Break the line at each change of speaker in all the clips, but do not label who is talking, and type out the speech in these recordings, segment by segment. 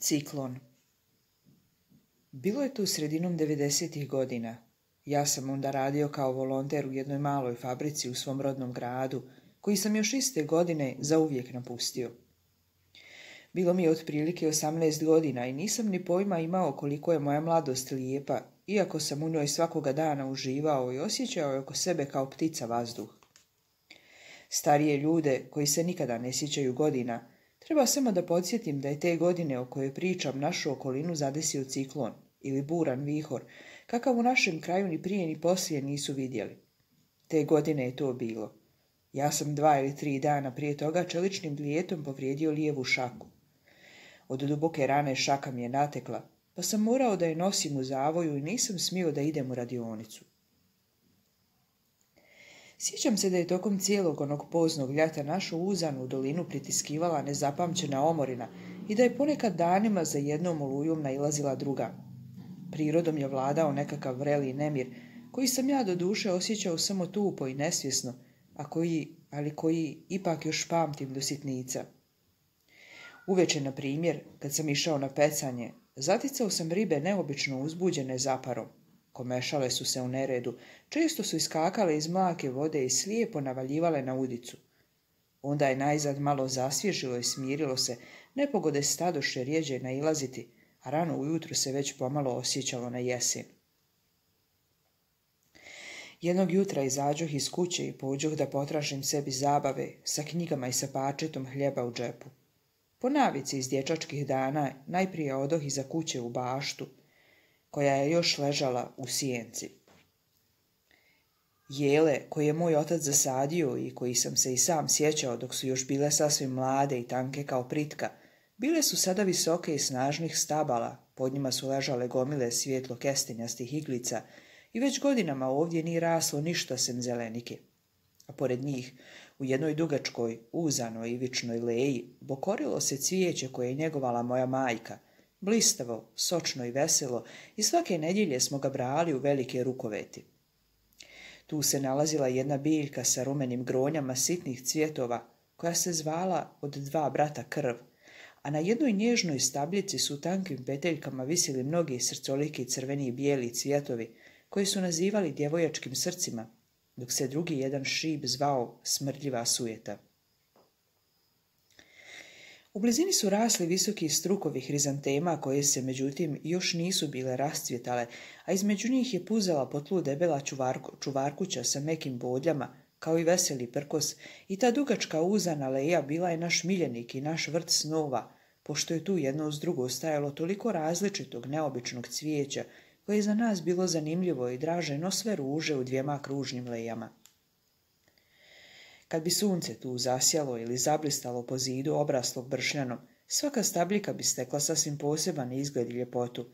Ciklon. Bilo je tu sredinom 90. godina. Ja sam onda radio kao volonter u jednoj maloj fabrici u svom rodnom gradu, koji sam još iste godine zauvijek napustio. Bilo mi je otprilike 18 godina i nisam ni pojma imao koliko je moja mladost lijepa, iako sam u njoj svakoga dana uživao i osjećao je oko sebe kao ptica vazduh. Starije ljude, koji se nikada ne sjećaju godina, treba samo da podsjetim da je te godine o kojoj pričam našu okolinu zadesio ciklon ili buran vihor, kakav u našem kraju ni prije ni poslije nisu vidjeli. Te godine je to bilo. Ja sam 2 ili 3 dana prije toga čeličnim dlijetom povrijedio lijevu šaku. Od duboke rane šaka mi je natekla, pa sam morao da je nosim u zavoju i nisam smio da idem u radionicu. Sjećam se da je tokom cijelog onog poznog ljeta našu uzanu dolinu pritiskivala nezapamćena omorina i da je ponekad danima za jednom olujom nailazila druga. Prirodom je vladao nekakav vreli nemir, koji sam ja do duše osjećao samo tupo i nesvjesno, ali koji ipak još pamtim do sitnica. Uveče, na primjer, kad sam išao na pecanje, zaticao sam ribe neobično uzbuđene zaparom. Komešale su se u neredu, često su iskakale iz mlake vode i slijepo navaljivale na udicu. Onda je najzad malo zasvježilo i smirilo se, nepogode stadoše rjeđe nailaziti, a rano ujutro se već pomalo osjećalo na jesen. Jednog jutra izađoh iz kuće i pođoh da potražim sebi zabave sa knjigama i sa pačetom hljeba u džepu. Po navici iz dječačkih dana najprije odoh iza kuće u baštu, koja je još ležala u sjenci. Jele koje je moj otac zasadio i koji sam se i sam sjećao dok su još bile sasvim mlade i tanke kao pritka, bile su sada visoke i snažnih stabala, pod njima su ležale gomile svijetlo kestenjastih iglica i već godinama ovdje nije raslo ništa sem zelenike. A pored njih, u jednoj dugačkoj, uzanoj ivičnoj leji, bokorilo se cvijeće koje je njegovala moja majka, blistavo, sočno i veselo, i svake nedjelje smo ga brali u velike rukoveti. Tu se nalazila jedna biljka sa rumenim gronjama sitnih cvjetova, koja se zvala od 2 brata krv, a na jednoj nježnoj stabljici su tankim peteljkama visili mnogi srcoliki crveni i bijeli cvjetovi, koji su nazivali djevojačkim srcima, dok se drugi jedan šib zvao smrdljiva sujeta. U blizini su rasli visoki strukovi hrizantema koje se, međutim, još nisu bile rascvjetale, a između njih je puzala po tlu debela čuvarkuća sa mekim bodljama, kao i veseli prkos, i ta dugačka uzana leja bila je naš miljenik i naš vrt snova, pošto je tu jedno uz drugo stajalo toliko različitog neobičnog cvijeća, koje je za nas bilo zanimljivo i draže no sve ruže u 2 kružnim lejama. Kad bi sunce tu zasjalo ili zablistalo po zidu obraslog bršljanom, svaka stabljika bi stekla sasvim poseban izgled i ljepotu.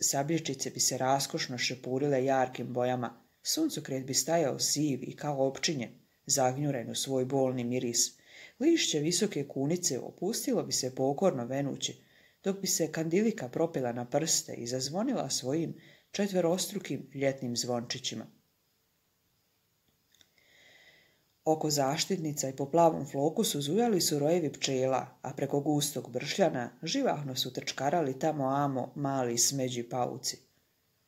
Sabljičice bi se raskošno šepurile jarkim bojama, suncokret bi stajao siv i kao opčinje, zagnjuren u svoj bolni miris. Lišće visoke kunice opustilo bi se pokorno venući, dok bi se kandilika propila na prste i zazvonila svojim 4-strukim ljetnim zvončićima. Oko zaštitnica i po plavom flokusu zujali su rojevi pčela, a preko gustog bršljana živahno su trčkarali tamo amo mali smeđi pauci.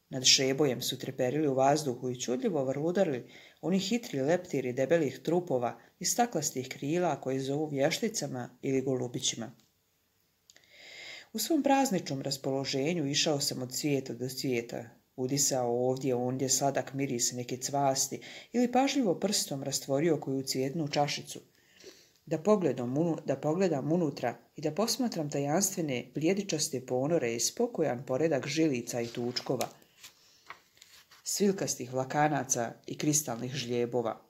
Nad šebojem su treperili u vazduhu i čudljivo vrludarili oni hitri leptiri debelih trupova i staklastih krila koje zovu vješticama ili golubićima. U svom prazničnom raspoloženju išao sam od cvijeta do cvijeta, udisao ovdje ondje sladak miris neke cvasti ili pažljivo prstom rastvorio koju cvjetnu čašicu, da pogledam unutra i da posmatram tajanstvene bljedičaste ponore i spokojan poredak žilica i tučkova, svilkastih vlakanaca i kristalnih žljebova.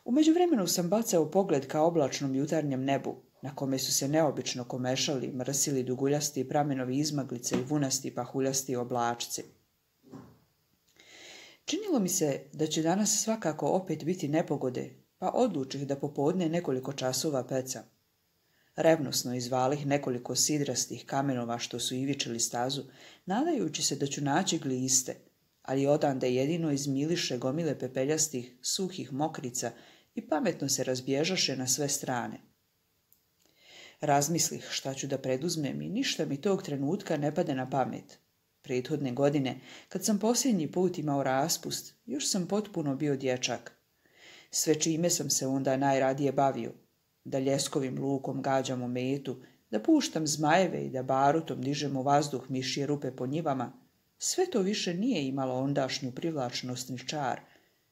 U međuvremenu sam bacao pogled ka oblačnom jutarnjem nebu, na kome su se neobično komešali, mrsili duguljasti pramenovi izmaglice i vunasti pahuljasti oblačci. Činilo mi se da će danas svakako opet biti nepogode, pa odlučih da popodne nekoliko časova peca. Revnosno izvalih nekoliko sidrastih kamenova što su ivičili stazu, nadajući se da ću naći gliste, ali odande jedino izmiliše gomile pepeljastih, suhih mokrica i pametno se razbježaše na sve strane. Razmislih šta ću da preduzmem i ništa mi tog trenutka ne pade na pamet. Prethodne godine, kad sam posljednji put imao raspust, još sam potpuno bio dječak. Sve čime sam se onda najradije bavio, da ljeskovim lukom gađam u metu, da puštam zmajeve i da barutom dižem u vazduh mišje rupe po njivama, sve to više nije imalo ondašnju privlačnost ni čar,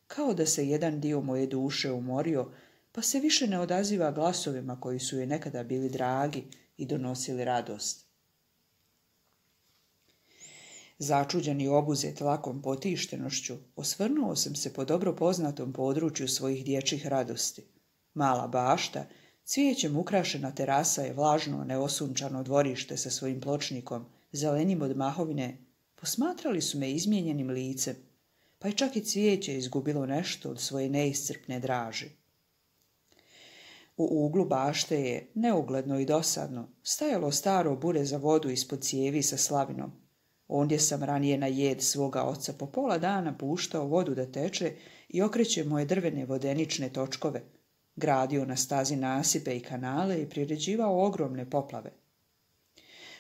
kao da se jedan dio moje duše umorio, pa se više ne odaziva glasovima koji su joj nekada bili dragi i donosili radost. Začuđen i obuzet lakom potištenošću, osvrnuo sam se po dobro poznatom području svojih dječjih radosti. Mala bašta, cvijećem ukrašena terasa i vlažno, neosunčano dvorište sa svojim pločnikom, zelenim od mahovine, posmatrali su me izmijenjenim licem, pa je čak i cvijeće izgubilo nešto od svoje neiscrpne draži. U uglu bašte je, neugledno i dosadno, stajalo staro bure za vodu ispod cijevi sa slavinom. Ondje sam ranije na jed svoga oca po pola dana puštao vodu da teče i okreće moje drvene vodenične točkove, gradio na stazi nasipe i kanale i priređivao ogromne poplave.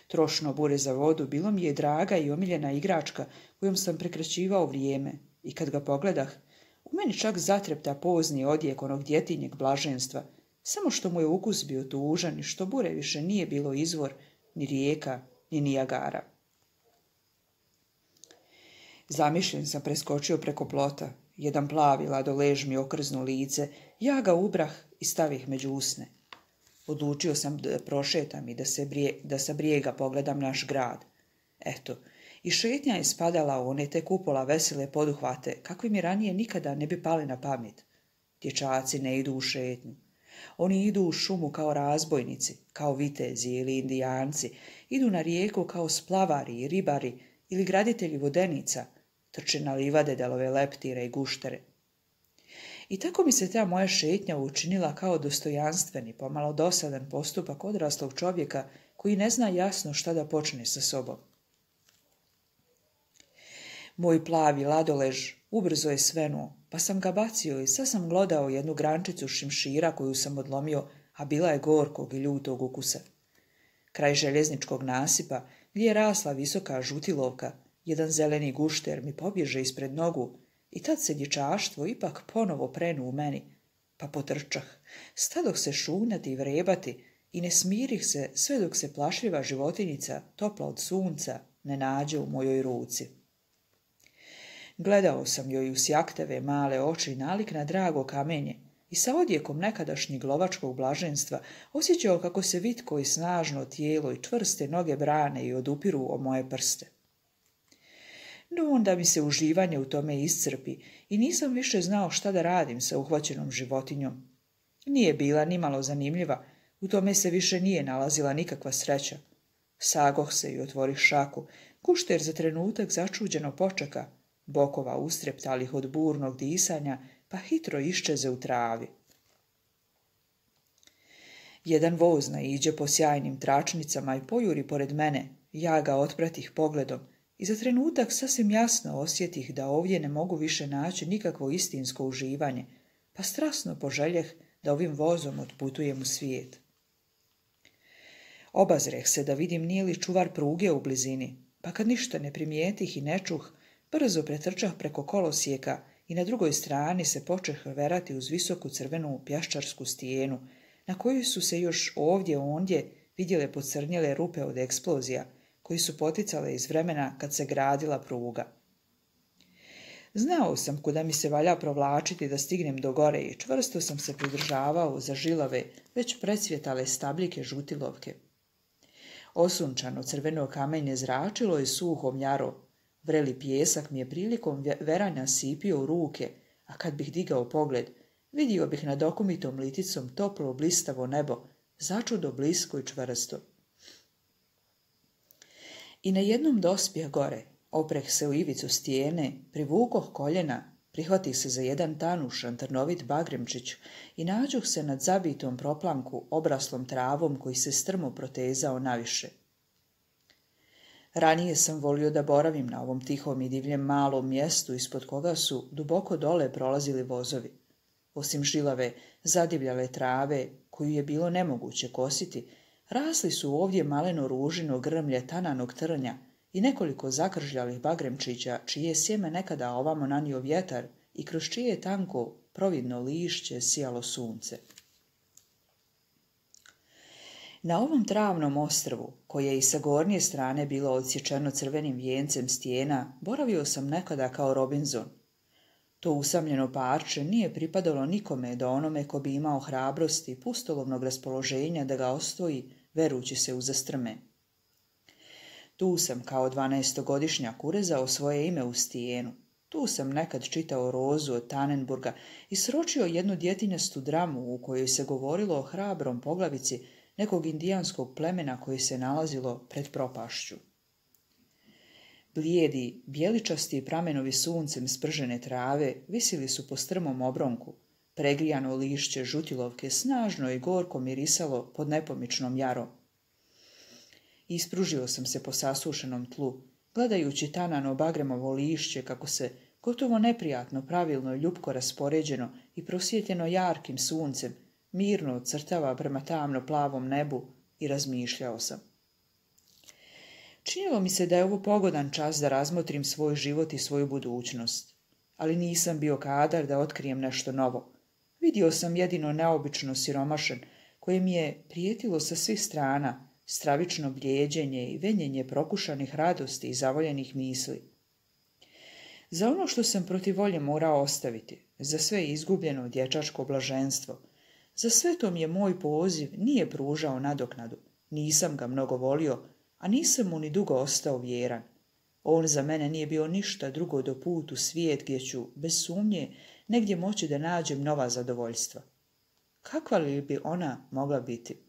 Trošno bure za vodu bilo mi je draga i omiljena igračka kojom sam prekraćivao vrijeme i kad ga pogledah, u meni čak zatrepta pozni odjek onog djetinjeg blaženstva, samo što mu je ukus bio tužan i što bure više nije bilo izvor, ni rijeka, ni Nijagara. Zamišljen sam preskočio preko plota, jedan plavi ladolež mi okrznu lice, ja ga ubrah i stavih među usne. Odlučio sam da prošetam i da sa brijega pogledam naš grad. Eto, i šetnja je spadala u one tek upola vesele poduhvate, kakvi mi ranije nikada ne bi pali na pamet. Dječaci ne idu u šetnju. Oni idu u šumu kao razbojnici, kao vitezi ili indijanci, idu na rijeku kao splavari i ribari ili graditelji vodenica, trče na livade delove leptire i guštere. I tako mi se ta moja šetnja učinila kao dostojanstveni, pomalo dosadan postupak odraslog čovjeka koji ne zna jasno šta da počne sa sobom. Moj plavi ladolež ubrzo je svenuo, pa sam ga bacio i sad sam glodao jednu grančicu šimšira koju sam odlomio, a bila je gorkog i ljutog ukusa. Kraj željezničkog nasipa, gdje je rasla visoka žutilovka, jedan zeleni gušter mi pobježe ispred nogu i tad se dječaštvo ipak ponovo prenu u meni, pa potrčah, stadoh se šunati i vrebati i ne smirih se sve dok se plašljiva životinjica, topla od sunca, ne nađe u mojoj ruci. Gledao sam joj u sjakteve male oči nalik na drago kamenje i sa odjekom nekadašnjeg lovačkog blaženstva osjećao kako se vitko i snažno tijelo i čvrste noge brane i odupiru o moje prste. No onda mi se uživanje u tome iscrpi i nisam više znao šta da radim sa uhvaćenom životinjom. Nije bila nimalo zanimljiva, u tome se više nije nalazila nikakva sreća. Sagoh se i otvorih šaku, gušter za trenutak začuđeno počeka, bokova ustreptalih od burnog disanja, pa hitro iščeze u travi. Jedan voz naiđe po sjajnim tračnicama i pojuri pored mene, ja ga otpratih pogledom i za trenutak sasvim jasno osjetih da ovdje ne mogu više naći nikakvo istinsko uživanje, pa strasno poželjeh da ovim vozom otputujem u svijet. Obazreh se da vidim nije li čuvar pruge u blizini, pa kad ništa ne primijetih i ne čuh, brzo pretrčah preko kolosijeka i na drugoj strani se počeh verati uz visoku crvenu pjaščarsku stijenu, na kojoj su se još ovdje ondje vidjele pocrnjele rupe od eksplozija, koji su poticale iz vremena kad se gradila pruga. Znao sam kuda mi se valja provlačiti da stignem do gore i čvrsto sam se pridržavao za žilave, već precvjetale stabljike žutilovke. Osunčano crveno kamenje zračilo je suhom jaro, vreli pijesak mi je prilikom veranja sipio u ruke, a kad bih digao pogled, vidio bih nad okumitom liticom toplo blistavo nebo, začudo blisko i čvrsto. I na jednom dospjeh gore, opreh se u ivicu stijene, privukoh koljena, prihvatih se za jedan tanušan trnovit bagremčić i nađuh se nad zabitom proplanku obraslom travom koji se strmo protezao naviše. Ranije sam volio da boravim na ovom tihom i divljem malom mjestu ispod koga su duboko dole prolazili vozovi. Osim žilave, zadivljale trave, koju je bilo nemoguće kositi, Rasli su ovdje maleno ružino grmlje tananog trnja i nekoliko zakržljalih bagremčića, čije je sjeme nekada ovamo nanio vjetar i kroz čije tanko providno lišće sijalo sunce. Na ovom travnom ostrvu, koje je i sa gornje strane bilo odsječeno crvenim vijencem stijena, boravio sam nekada kao Robinson. To usamljeno parče nije pripadalo nikome do onome ko bi imao hrabrosti i pustolovnog raspoloženja da ga osvoji, verujući se u zastrme. Tu sam kao 12-godišnjak urezao svoje ime u stijenu. Tu sam nekad čitao Rozu od Tannenburga i sročio jednu djetinjastu dramu u kojoj se govorilo o hrabrom poglavici nekog indijanskog plemena koji se nalazilo pred propašću. Blijedi, bijeličasti pramenovi suncem spržene trave visili su po strmom obronku. Pregrijano lišće žutilovke snažno i gorko mirisalo pod nepomičnom jarom. Ispružio sam se po sasušenom tlu, gledajući tanano bagremovo lišće kako se gotovo neprijatno, pravilno i ljupko raspoređeno i prosvjetljeno jarkim suncem mirno odcrtava prema tamno plavom nebu i razmišljao sam. Činilo mi se da je ovo pogodan čas da razmotrim svoj život i svoju budućnost, ali nisam bio kadar da otkrijem nešto novo. Vidio sam jedino neobično siromašen, koje mi je prijetilo sa svih strana, stravično bljeđenje i venjenje prokušanih radosti i zavoljenih misli. Za ono što sam protiv volje morao ostaviti, za sve izgubljeno dječačko blaženstvo, za sve to mi je moj poziv nije pružao nadoknadu, nisam ga mnogo volio, a nisam mu ni dugo ostao vjeran. On za mene nije bio ništa drugo do put u svijet gdje ću, bez sumnje, negdje moći da nađem nova zadovoljstva. Kakva li bi ona mogla biti?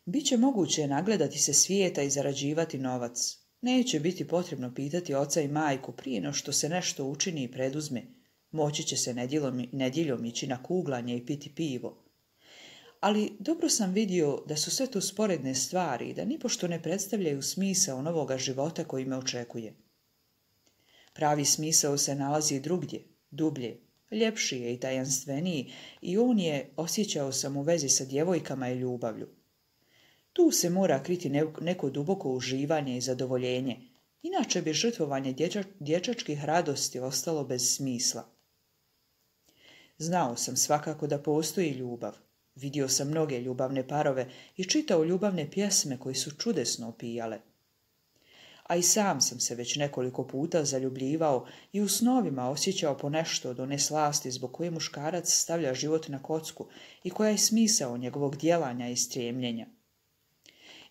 Biće moguće nagledati se svijeta i zarađivati novac. Neće biti potrebno pitati oca i majku prije no što se nešto učini i preduzme. Moći će se nedjeljom ići na kuglanje i piti pivo. Ali dobro sam vidio da su sve to sporedne stvari i da nipošto ne predstavljaju smisao novoga života koji me očekuje. Pravi smisao se nalazi drugdje, dublje, ljepši je i tajanstveniji i on je, osjećao sam u vezi sa djevojkama i ljubavlju. Tu se mora kriti neko duboko uživanje i zadovoljenje, inače bi žrtvovanje dječačkih radosti ostalo bez smisla. Znao sam svakako da postoji ljubav. Vidio sam mnoge ljubavne parove i čitao ljubavne pjesme koji su čudesno opijale. A i sam sam se već nekoliko puta zaljubljivao i u snovima osjećao ponešto od one slasti zbog koje muškarac stavlja život na kocku i koja je smisao njegovog djelanja i stremljenja.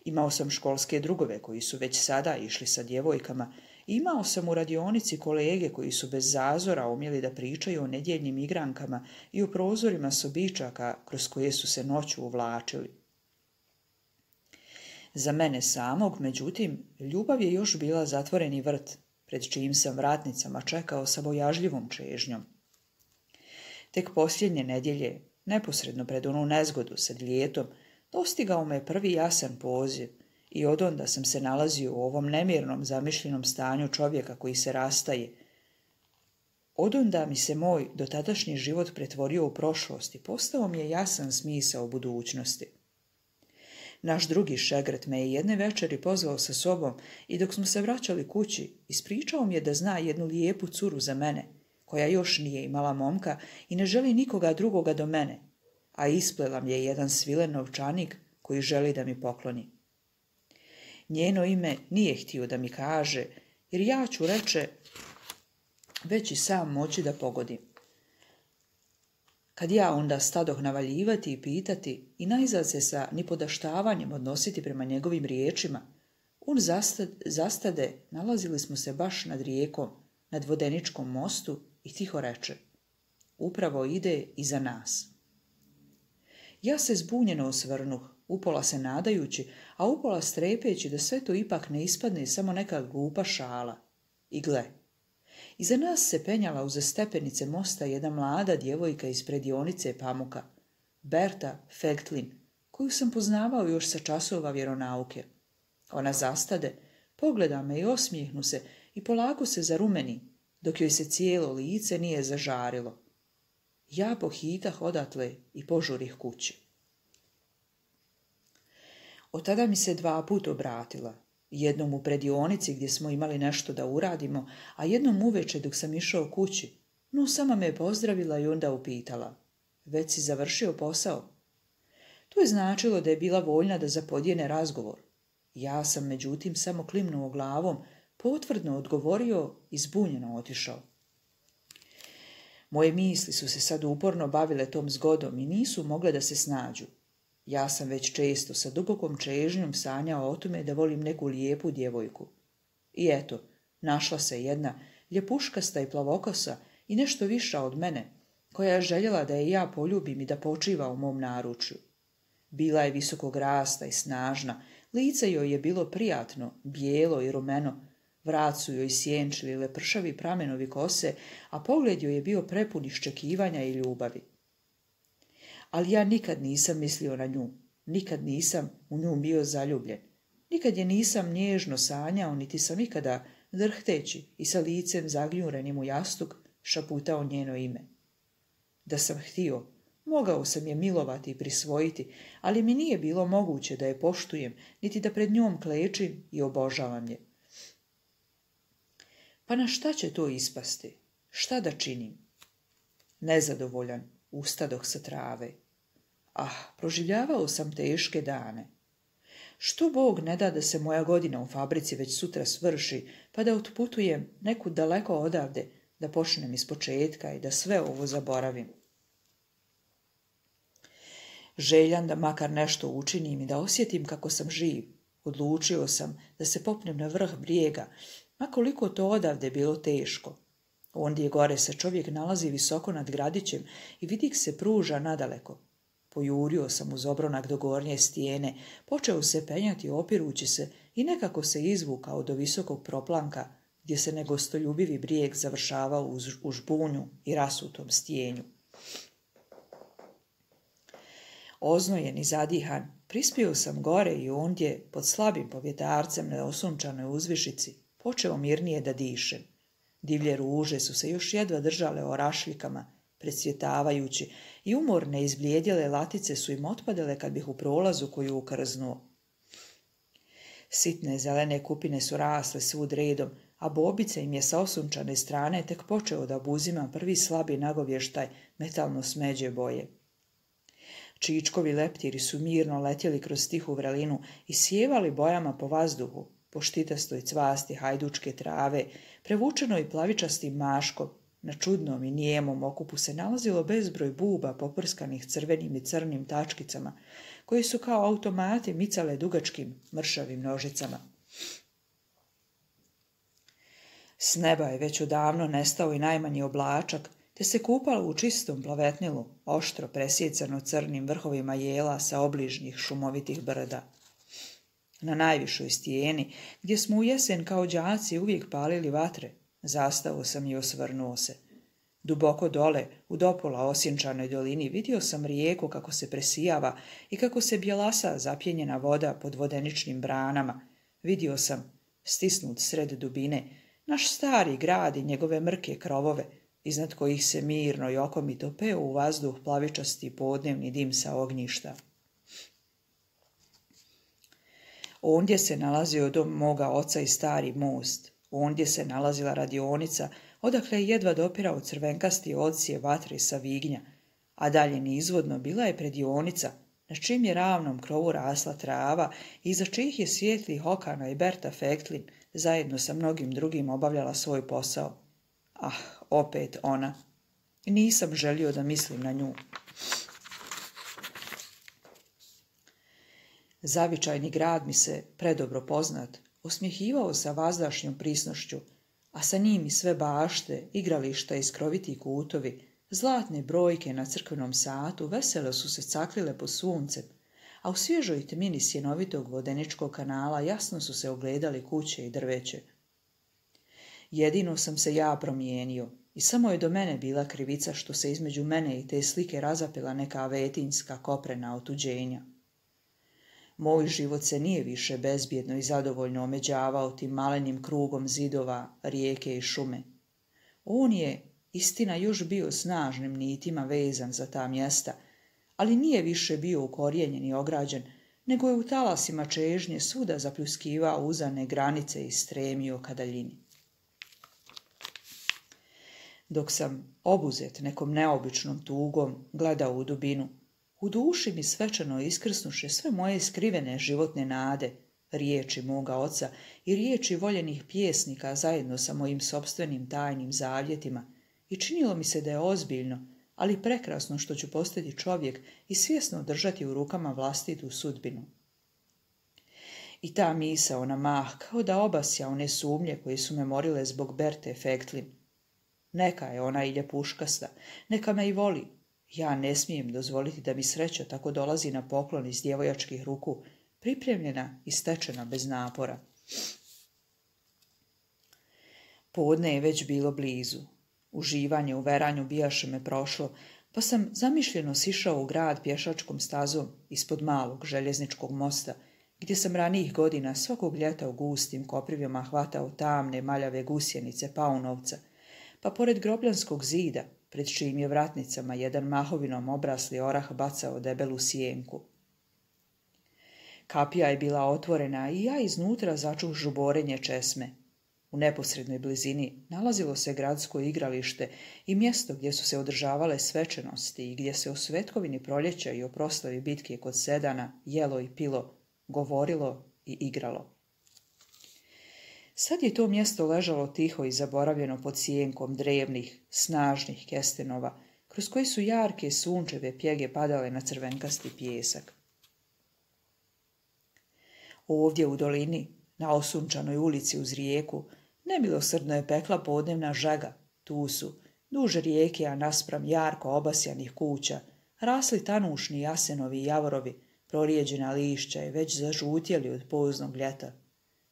Imao sam školske drugove koji su već sada išli sa djevojkama i imao sam u radionici kolege koji su bez zazora umjeli da pričaju o nedjeljnim igrankama i o prozorima sobičaka kroz koje su se noću uvlačili. Za mene samog, međutim, ljubav je još bila zatvoreni vrt, pred čijim sam vratnicama čekao sa bojažljivom čežnjom. Tek posljednje nedjelje, neposredno pred onu nezgodu sa ljetom, dostigao me prvi jasan poziv i odonda sam se nalazio u ovom nemirnom zamišljenom stanju čovjeka koji se rastaje. Odonda mi se moj dotadašnji život pretvorio u prošlost i postao mi je jasan smisao budućnosti. Naš drugi šegrt me je jedne večeri pozvao sa sobom i dok smo se vraćali kući, ispričao mi je da zna jednu lijepu curu za mene, koja još nije imala momka i ne želi nikoga drugoga do mene, a isplela mi je jedan svilen novčanik koji želi da mi pokloni. Njeno ime nije htio da mi kaže, jer ja ću, reče, već i sam moći da pogodim. Kad ja onda stadoh navaljivati i pitati i najzad se sa nipodaštavanjem odnositi prema njegovim riječima, on zastade, nalazili smo se baš nad rijekom, nad vodeničkom mostu i tiho reče, upravo ide iza nas. Ja se zbunjeno osvrnuh, upola se nadajući, a upola strepeći da sve to ipak ne ispadne samo neka glupa šala. I gle, iza nas se penjala uza stepenice mosta jedna mlada djevojka iz predionice pamuka, Berta Fegtlin, koju sam poznavao još sa časova vjeronauke. Ona zastade, pogleda me i osmijehnu se i polako se zarumeni, dok joj se cijelo lice nije zažarilo. Ja pohitah odatle i požurih kući. Od tada mi se 2 puta obratila. Jednom u predionici gdje smo imali nešto da uradimo, a jednom uveče dok sam išao kući. No, sama me je pozdravila i onda upitala: već si završio posao? To je značilo da je bila voljna da zapodijene razgovor. Ja sam međutim samo klimnuo glavom, potvrdno odgovorio i zbunjeno otišao. Moje misli su se sad uporno bavile tom zgodom i nisu mogle da se snađu. Ja sam već često sa dubokom čežnjom sanjao o tome da volim neku lijepu djevojku. I eto, našla se jedna ljepuškasta i plavokosa i nešto viša od mene, koja je željela da je ja poljubim i da počiva u mom naručju. Bila je visokog rasta i snažna, lice joj je bilo prijatno, bijelo i rumeno, vrat su joj sjenčili lepršavi pramenovi kose, a pogled joj je bio prepun iščekivanja i ljubavi. Ali ja nikad nisam mislio na nju, nikad nisam u nju bio zaljubljen, nikad je nisam nježno sanjao, niti sam ikada, drhteći i sa licem zagnjurenim u jastuk, šaputao njeno ime. Da sam htio, mogao sam je milovati i prisvojiti, ali mi nije bilo moguće da je poštujem, niti da pred njom klečim i obožavam je. Pa na šta će to ispasti? Šta da činim? Nezadovoljan, ustadoh sa trave. Proživljavao sam teške dane. Što Bog ne da se moja godina u fabrici već sutra svrši, pa da otputujem nekud daleko odavde, da počnem ispočetka i da sve ovo zaboravim. Željan da makar nešto učinim i da osjetim kako sam živ, odlučio sam da se popnem na vrh brijega, ma koliko to odavde bilo teško. Ondje gore se čovjek nalazi visoko nad gradićem i vidik se pruža nadaleko. Pojurio sam uz obronak do gornje stijene, počeo se penjati opirući se i nekako se izvukao do visokog proplanka, gdje se negostoljubivi brijeg završavao u žbunju i rasutom stijenju. Oznojen i zadihan, prispio sam gore i ondje, pod slabim povjetarcem na osunčanoj uzvišici, počeo mirnije da dišem. Divlje ruže su se još jedva držale o rašljikama, predsvjetavajući, i umorne izblijedjele latice su im otpadale kad bih u prolazu koju ukrznuo. Sitne zelene kupine su rasle svud redom, a bobica im je sa osunčane strane tek počeo da obuzima prvi slabi nagovještaj metalno smeđe boje. Čičkovi leptiri su mirno letjeli kroz tihu vrelinu i sjevali bojama po vazduhu, po štitastoj cvasti hajdučke trave, prevučenoj plavičastim maškom. Na čudnom i nijemom okupu se nalazilo bezbroj buba poprskanih crvenim i crnim tačkicama, koji su kao automati micale dugačkim mršavim nožicama. S neba je već odavno nestao i najmanji oblačak, te se kupalo u čistom plavetnilu, oštro presjecano crnim vrhovima jela sa obližnjih šumovitih brda. Na najvišoj stijeni, gdje smo u jesen kao đaci uvijek palili vatre, zastao sam i osvrnuo se. Duboko dole, u dopola osjenčanoj dolini, vidio sam rijeku kako se presijava i kako se bjelasa zapjenjena voda pod vodeničnim branama. Vidio sam, stisnut sred dubine, naš stari grad i njegove mrke krovove, iznad kojih se mirno i okomito peo u vazduh plavičasti podnevni dim sa ognjišta. Ondje se nalazio dom moga oca i stari most. Ondje se nalazila radionica, odakle je jedva dopirao crvenkasti odsije vatre sa vignja, a dalje nizvodno bila je predionica, na čim je ravnom krovu rasla trava i iza čijih je svijetlih okana i Berta Fektlin zajedno sa mnogim drugim obavljala svoj posao. Opet ona. Nisam želio da mislim na nju. Zavičajni grad mi se, predobro poznat, osmjehivao sa vazdašnjom prisnošću, a sa njim i sve bašte, igrališta i skroviti kutovi, zlatne brojke na crkvenom satu veselo su se caklile pod suncem, a u svježoj tmini sjenovitog vodeničkog kanala jasno su se ogledali kuće i drveće. Jedino sam se ja promijenio i samo je do mene bila krivica što se između mene i te slike razapela neka vetinjska koprena otuđenja. Moj život se nije više bezbjedno i zadovoljno omeđavao tim malenim krugom zidova, rijeke i šume. On je, istina, još bio snažnim nitima vezan za ta mjesta, ali nije više bio ukorijenjen i ograđen, nego je u talasima čežnje svuda zapljuskivao uzane granice i stremio ka daljini. Dok sam, obuzet nekom neobičnom tugom, gledao u dubinu, u duši mi svečano iskrsnuše sve moje skrivene životne nade, riječi moga oca i riječi voljenih pjesnika zajedno sa mojim sopstvenim tajnim zavjetima, i činilo mi se da je ozbiljno, ali prekrasno što ću postati čovjek i svjesno držati u rukama vlastitu sudbinu. I ta misao na mah kao da obasja one sumnje koje su me morile zbog Berte Fektlin. Neka je ona i ljepuškasta, neka me i voli. Ja ne smijem dozvoliti da mi sreća tako dolazi na poklon iz djevojačkih ruku, pripremljena i stečena bez napora. Podne je već bilo blizu. Uživanje u veranju bijaše me prošlo, pa sam zamišljeno sišao u grad pješačkom stazom ispod malog željezničkog mosta, gdje sam ranijih godina svakog ljeta u gustim koprivima hvatao tamne maljave gusjenice paunovca, pa pored grobljanskog zida, pred čijim je vratnicama jedan mahovinom obrasli orah bacao debelu sjenku. Kapija je bila otvorena i ja iznutra začuh žuborenje česme. U neposrednoj blizini nalazilo se gradsko igralište i mjesto gdje su se održavale svečanosti i gdje se o svetkovini proljeća i o proslavi bitke kod Sedana jelo i pilo, govorilo i igralo. Sad je to mjesto ležalo tiho i zaboravljeno pod sjenkom drevnih, snažnih kestenova, kroz koji su jarke sunčeve pjege padale na crvenkasti pijesak. Ovdje u dolini, na osunčanoj ulici uz rijeku, nemilosrdno je pekla podnevna žaga. Tu su, duž rijeke, a naspram jarko obasjanih kuća, rasli tanušni jasenovi i javorovi, prorijeđena lišća je već zažutjeli od poznog ljeta.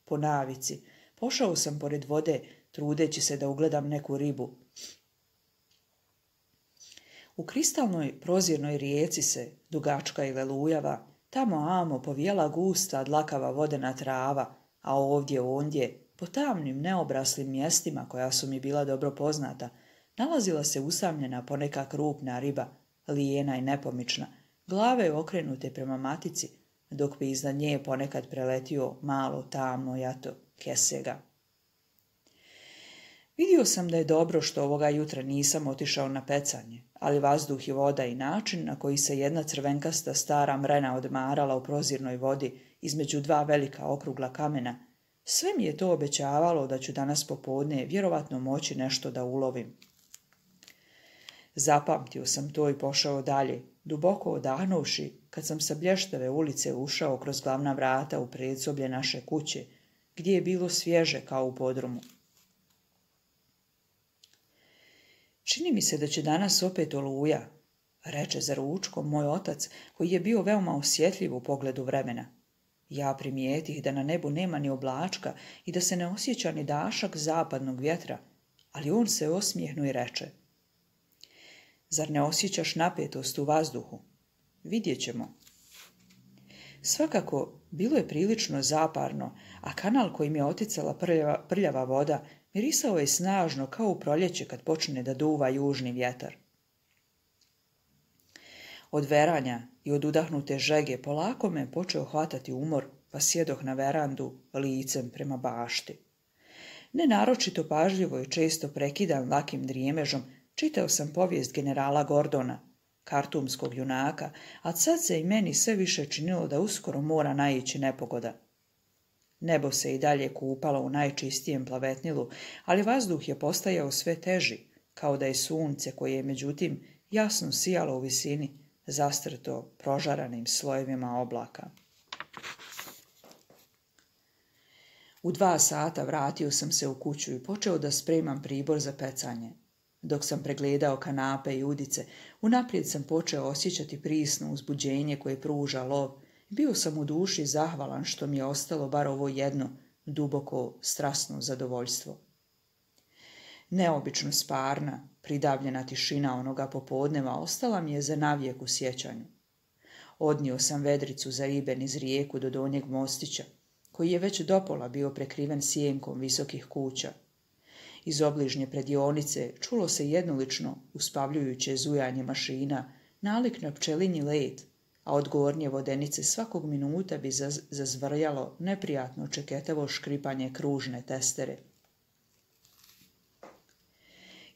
Po navici, pošao sam pored vode, trudeći se da ugledam neku ribu. U kristalnoj prozirnoj rijeci se, dugačka i lelujava, tamo amo povijela gusta dlakava vodena trava, a ovdje ondje, po tamnim neobraslim mjestima koja su mi bila dobro poznata, nalazila se usamljena poneka krupna riba, lijena i nepomična, glave okrenute prema matici, dok bi iznad nje ponekad preletio malo tamno jato kesega. Vidio sam da je dobro što ovoga jutra nisam otišao na pecanje, ali vazduh i voda i način na koji se jedna crvenkasta stara mrena odmarala u prozirnoj vodi između dva velika okrugla kamena, sve mi je to obećavalo da ću danas popodne vjerovatno moći nešto da ulovim. Zapamtio sam to i pošao dalje, duboko odahnuvši, kad sam sa blještave ulice ušao kroz glavna vrata u predsoblje naše kuće, gdje je bilo svježe kao u podrumu. Čini mi se da će danas opet oluja, reče za ručkom moj otac, koji je bio veoma osjetljiv u pogledu vremena. Ja primijetih da na nebu nema ni oblačka i da se ne osjeća ni dašak zapadnog vjetra, ali on se osmijehnu i reče: Zar ne osjećaš napetost u vazduhu? Vidjet ćemo. Svakako, bilo je prilično zaparno, a kanal kojim je oticala prljava voda mirisao je snažno kao u proljeće kad počne da duva južni vjetar. Od veranja i od udahnute žege polako me počeo hvatati umor, pa sjedoh na verandu licem prema bašti. Nenaročito pažljivo i često prekidan lakim drijemežom čitao sam povijest generala Gordona, kartumskog junaka, a sad se i meni sve više činilo da uskoro mora naići nepogoda. Nebo se i dalje kupalo u najčistijem plavetnilu, ali vazduh je postajao sve teži, kao da je sunce koje je međutim jasno sijalo u visini, zastrto prožaranim slojevima oblaka. U 2 sata vratio sam se u kuću i počeo da spremam pribor za pecanje. Dok sam pregledao kanape i udice, unaprijed sam počeo osjećati prisno uzbuđenje koje pruža lov. Bio sam u duši zahvalan što mi je ostalo bar ovo jedno, duboko strasno zadovoljstvo. Neobično sparna, pridavljena tišina onoga popodneva ostala mi je za navijek u sjećanju. Odnio sam vedricu za ribe niz rijeku do donjeg mostića, koji je već dopola bio prekriven sjenkom visokih kuća. Iz obližnje predionice čulo se jednolično, uspavljujuće zujanje mašina, nalik na pčelinji let, a od gornje vodenice svakog minuta bi zazvrljalo neprijatno čeketavo škripanje kružne testere.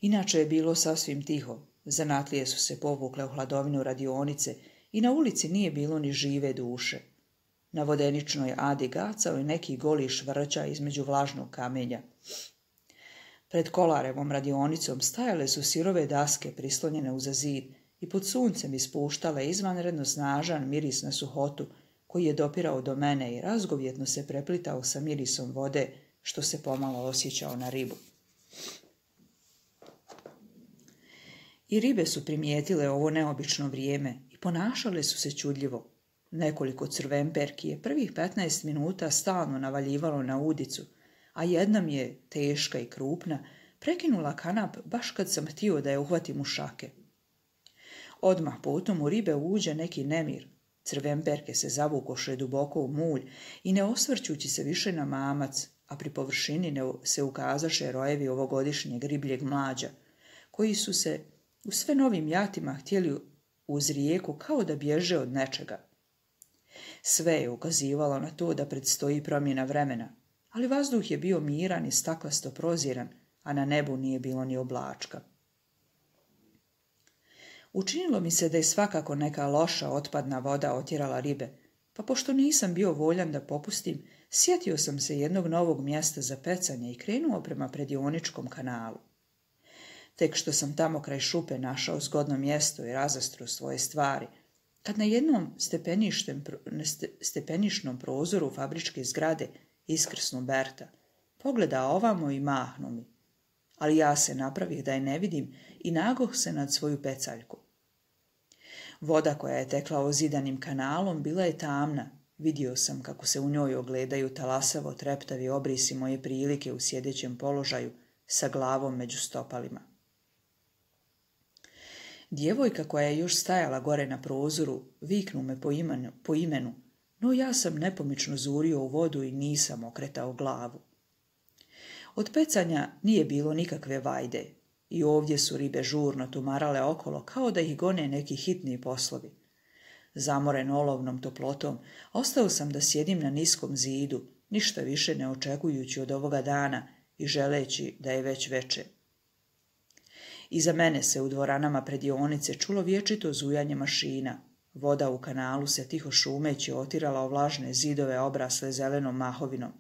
Inače je bilo sasvim tiho, zanatlije su se povukle u hladovinu radionice i na ulici nije bilo ni žive duše. Na vodeničnoj adi gacao je neki goli švrća između vlažnog kamenja. Pred Kolarevom radionicom stajale su sirove daske prislonjene uza zid i pod suncem ispuštale izvanredno snažan miris na suhotu koji je dopirao do mene i razgovjetno se preplitao sa mirisom vode što se pomalo osjećao na ribu. I ribe su primijetile ovo neobično vrijeme i ponašale su se čudljivo. Nekoliko crvenperki je prvih 15 minuta stalno navaljivalo na udicu, a jedna mi je, teška i krupna, prekinula kanap baš kad sam htio da je uhvatim u šake. Odmah potom u ribe uđe neki nemir. Crvenperke se zavukoše duboko u mulj i ne osvrćući se više na mamac, a pri površini se ukazaše rojevi ovogodišnjeg ribljeg mlađa, koji su se u sve novim jatima htjeli uz rijeku kao da bježe od nečega. Sve je ukazivalo na to da predstoji promjena vremena, ali vazduh je bio miran i staklasto proziran, a na nebu nije bilo ni oblačka. Učinilo mi se da je svakako neka loša otpadna voda otjerala ribe, pa pošto nisam bio voljan da popustim, sjetio sam se jednog novog mjesta za pecanje i krenuo prema Predioničkom kanalu. Tek što sam tamo kraj šupe našao zgodno mjesto i razastro svoje stvari, kad na jednom stepenišnom prozoru fabričke zgrade iskrsnu Berta, pogleda ovamo i mahnu mi, ali ja se napravih da je ne vidim i nagoh se nad svoju pecaljku. Voda koja je tekla ozidanim kanalom bila je tamna, vidio sam kako se u njoj ogledaju talasavo treptavi obrisi moje prilike u sjedećem položaju sa glavom među stopalima. Djevojka koja je još stajala gore na prozoru viknu me po imenu, no ja sam nepomično zurio u vodu i nisam okretao glavu. Od pecanja nije bilo nikakve vajde i ovdje su ribe žurno tumarale okolo kao da ih gone neki hitni poslovi. Zamoren olovnom toplotom, ostao sam da sjedim na niskom zidu, ništa više ne očekujući od ovoga dana i želeći da je već veče. Iza mene se u dvoranama Predionice čulo vječito zujanje mašina. Voda u kanalu se tiho šumeći otirala o vlažne zidove obrasle zelenom mahovinom.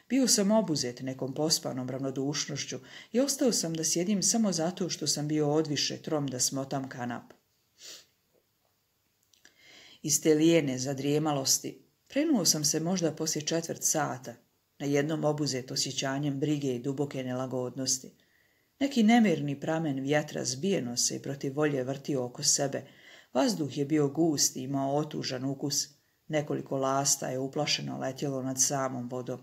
Bio sam obuzet nekom pospanom ravnodušnošću i ostao sam da sjedim samo zato što sam bio odviše trom da smotam kanap. Iz te lijene zadrijemalosti prenuo sam se možda poslije 1/4 sata, na jednom obuzet osjećanjem brige i duboke nelagodnosti. Neki nemirni pramen vjetra zbijeno se i protiv volje vrtio oko sebe. Vazduh je bio gust i imao otužan ukus. Nekoliko lasta je uplašeno letjelo nad samom vodom.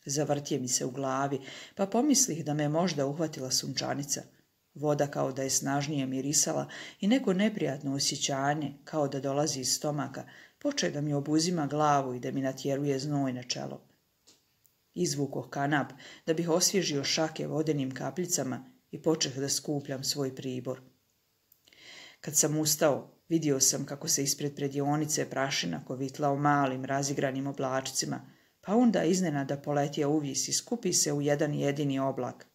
Zavrtje mi se u glavi, pa pomislih da me možda uhvatila sunčanica. Voda kao da je snažnije mirisala i neko neprijatno osjećanje, kao da dolazi iz stomaka, poče da mi obuzima glavu i da mi natjeruje znoj na čelo. Izvukoh kanap da bih osvježio šake vodenim kapljicama i počeh da skupljam svoj pribor. Kad sam ustao, vidio sam kako se ispred Predionice prašina kovitla u malim razigranim oblačcima, pa onda iznenada poletio uvis i skupi se u jedan jedini oblak.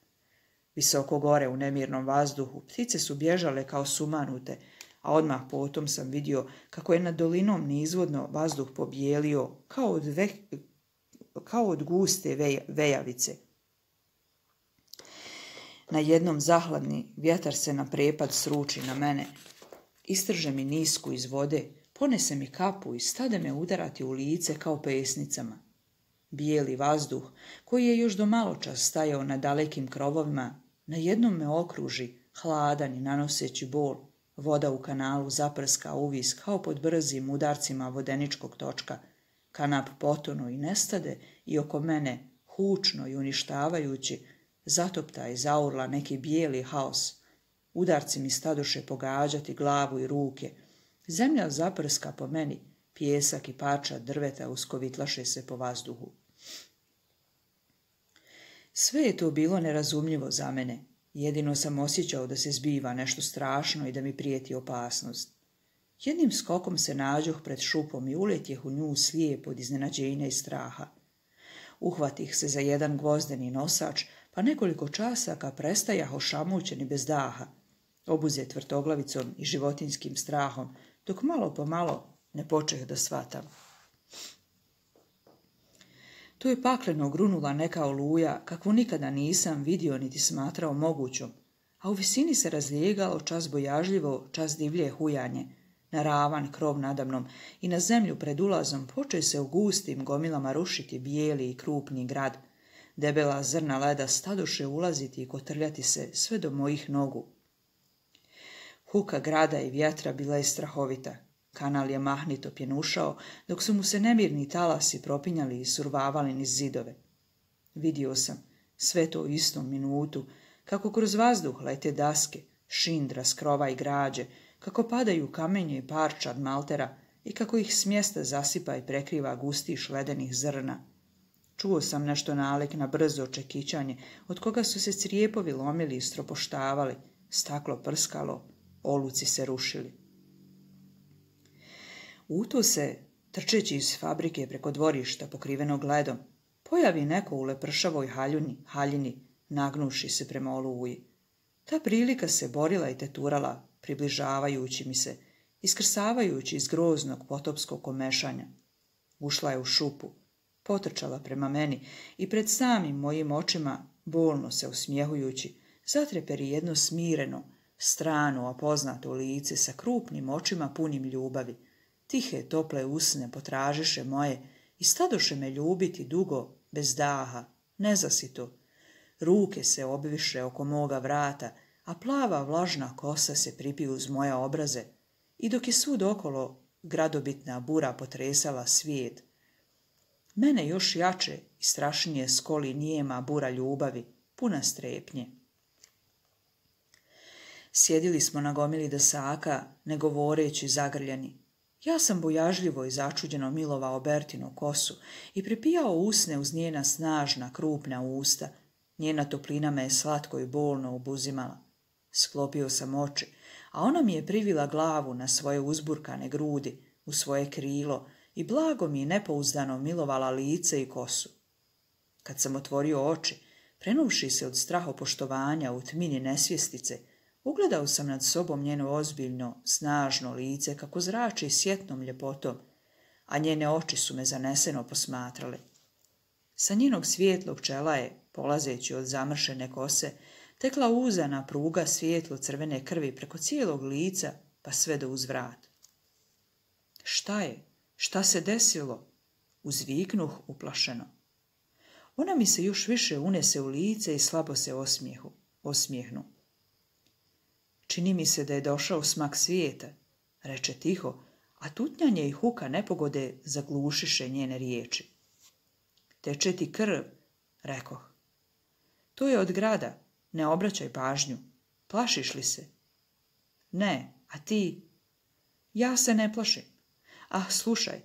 Visoko gore u nemirnom vazduhu ptice su bježale kao sumanute, a odmah potom sam vidio kako je nad dolinom nizvodno vazduh pobijelio kao od guste vejavice. Na jednom zahladni vjetar se na prepad sruči na mene. Istrže mi nisku iz vode, ponese mi kapu i stade me udarati u lice kao pesnicama. Bijeli vazduh, koji je još do maločas stajao na dalekim krovovima, na jednom me okruži, hladan i nanoseći bol. Voda u kanalu zaprska uvis kao pod brzim udarcima vodeničkog točka. Kanap potonu i nestade i oko mene, hučno i uništavajući, zatopta i zaurla neki bijeli haos. Udarci mi stadoše pogađati glavu i ruke. Zemlja zaprska po meni, pijesak i parčad drveta uskovitlaše se po vazduhu. Sve je to bilo nerazumljivo za mene. Jedino sam osjećao da se zbiva nešto strašno i da mi prijeti opasnost. Jednim skokom se nađoh pred šupom i uletjeh u nju slijep od iznenađenja i straha. Uhvatih se za jedan gvozdeni nosač, pa nekoliko časaka prestajah ošamućeni bez daha, obuzet vrtoglavicom i životinskim strahom, dok malo po malo ne počeh da shvatam. To je pakleno grunula neka oluja, kakvu nikada nisam vidio niti smatrao mogućom, a u visini se razlijegalo čas bojažljivo, čas divlje hujanje. Na ravan krov nadamnom i na zemlju pred ulazom poče se u gustim gomilama rušiti bijeli i krupni grad. Debela zrna leda stadoše ulaziti i kotrljati se sve do mojih nogu. Huka grada i vjetra bila je strahovita. Kanal je mahnito pjenušao, dok su mu se nemirni talasi propinjali i survavali niz zidove. Vidio sam, sve to u istom minutu, kako kroz vazduh lete daske, šindra s krova i građe, kako padaju kamenje i parčad maltera i kako ih s mjesta zasipa i prekriva gustiš ledenih zrna. Čuo sam nešto nalik na brzo čekićanje, od koga su se crijepovi lomili i stropoštavali, staklo prskalo, oluci se rušili. U to se, trčeći iz fabrike preko dvorišta pokrivenog ledom, pojavi neko u lepršavoj haljini, nagnuši se prema oluji. Ta prilika se borila i teturala, približavajući mi se, iskrsavajući iz groznog potopskog komešanja. Ušla je u šupu, potrčala prema meni i pred samim mojim očima, bolno se usmjehujući, zatreperi jedno smireno, strano, a poznato lice sa krupnim očima punim ljubavi. Tihe, tople usne potražiše moje i stadoše me ljubiti dugo, bez daha, nezasito. Ruke se obviše oko moga vrata, a plava vlažna kosa se pripiju uz moje obraze, i dok je svud okolo gradobitna bura potresala svijet, mene još jače i strašnije skoli nijema bura ljubavi, puna strepnje. Sjedili smo na gomili dasaka, ne govoreći zagrljeni. Ja sam bojažljivo i začuđeno milovao Bertinu kosu i pripijao usne uz njena snažna, krupna usta. Njena toplina me je slatko i bolno obuzimala. Sklopio sam oči, a ona mi je privila glavu na svoje uzburkane grudi, u svoje krilo i blago mi nepouzdano milovala lice i kosu. Kad sam otvorio oči, prenuvši se od strahopoštovanja u tmini nesvjestice, ugledao sam nad sobom njeno ozbiljno, snažno lice kako zrači sjetnom ljepotom, a njene oči su me zaneseno posmatrale. Sa njenog svijetlog čela je, polazeći od zamršene kose, tekla uzana pruga svijetlo crvene krvi preko cijelog lica pa sve do uzvrat. Šta je? Šta se desilo? Uzviknuh uplašeno. Ona mi se još više unese u lice i slabo se osmijehnu. Čini mi se da je došao smak svijeta, reče tiho, a tutnjanje i huka nepogode zaglušiše njene riječi. Teče ti krv, rekoh. To je od grada, ne obraćaj pažnju. Plašiš li se? Ne, a ti? Ja se ne plašim. Ah, slušaj,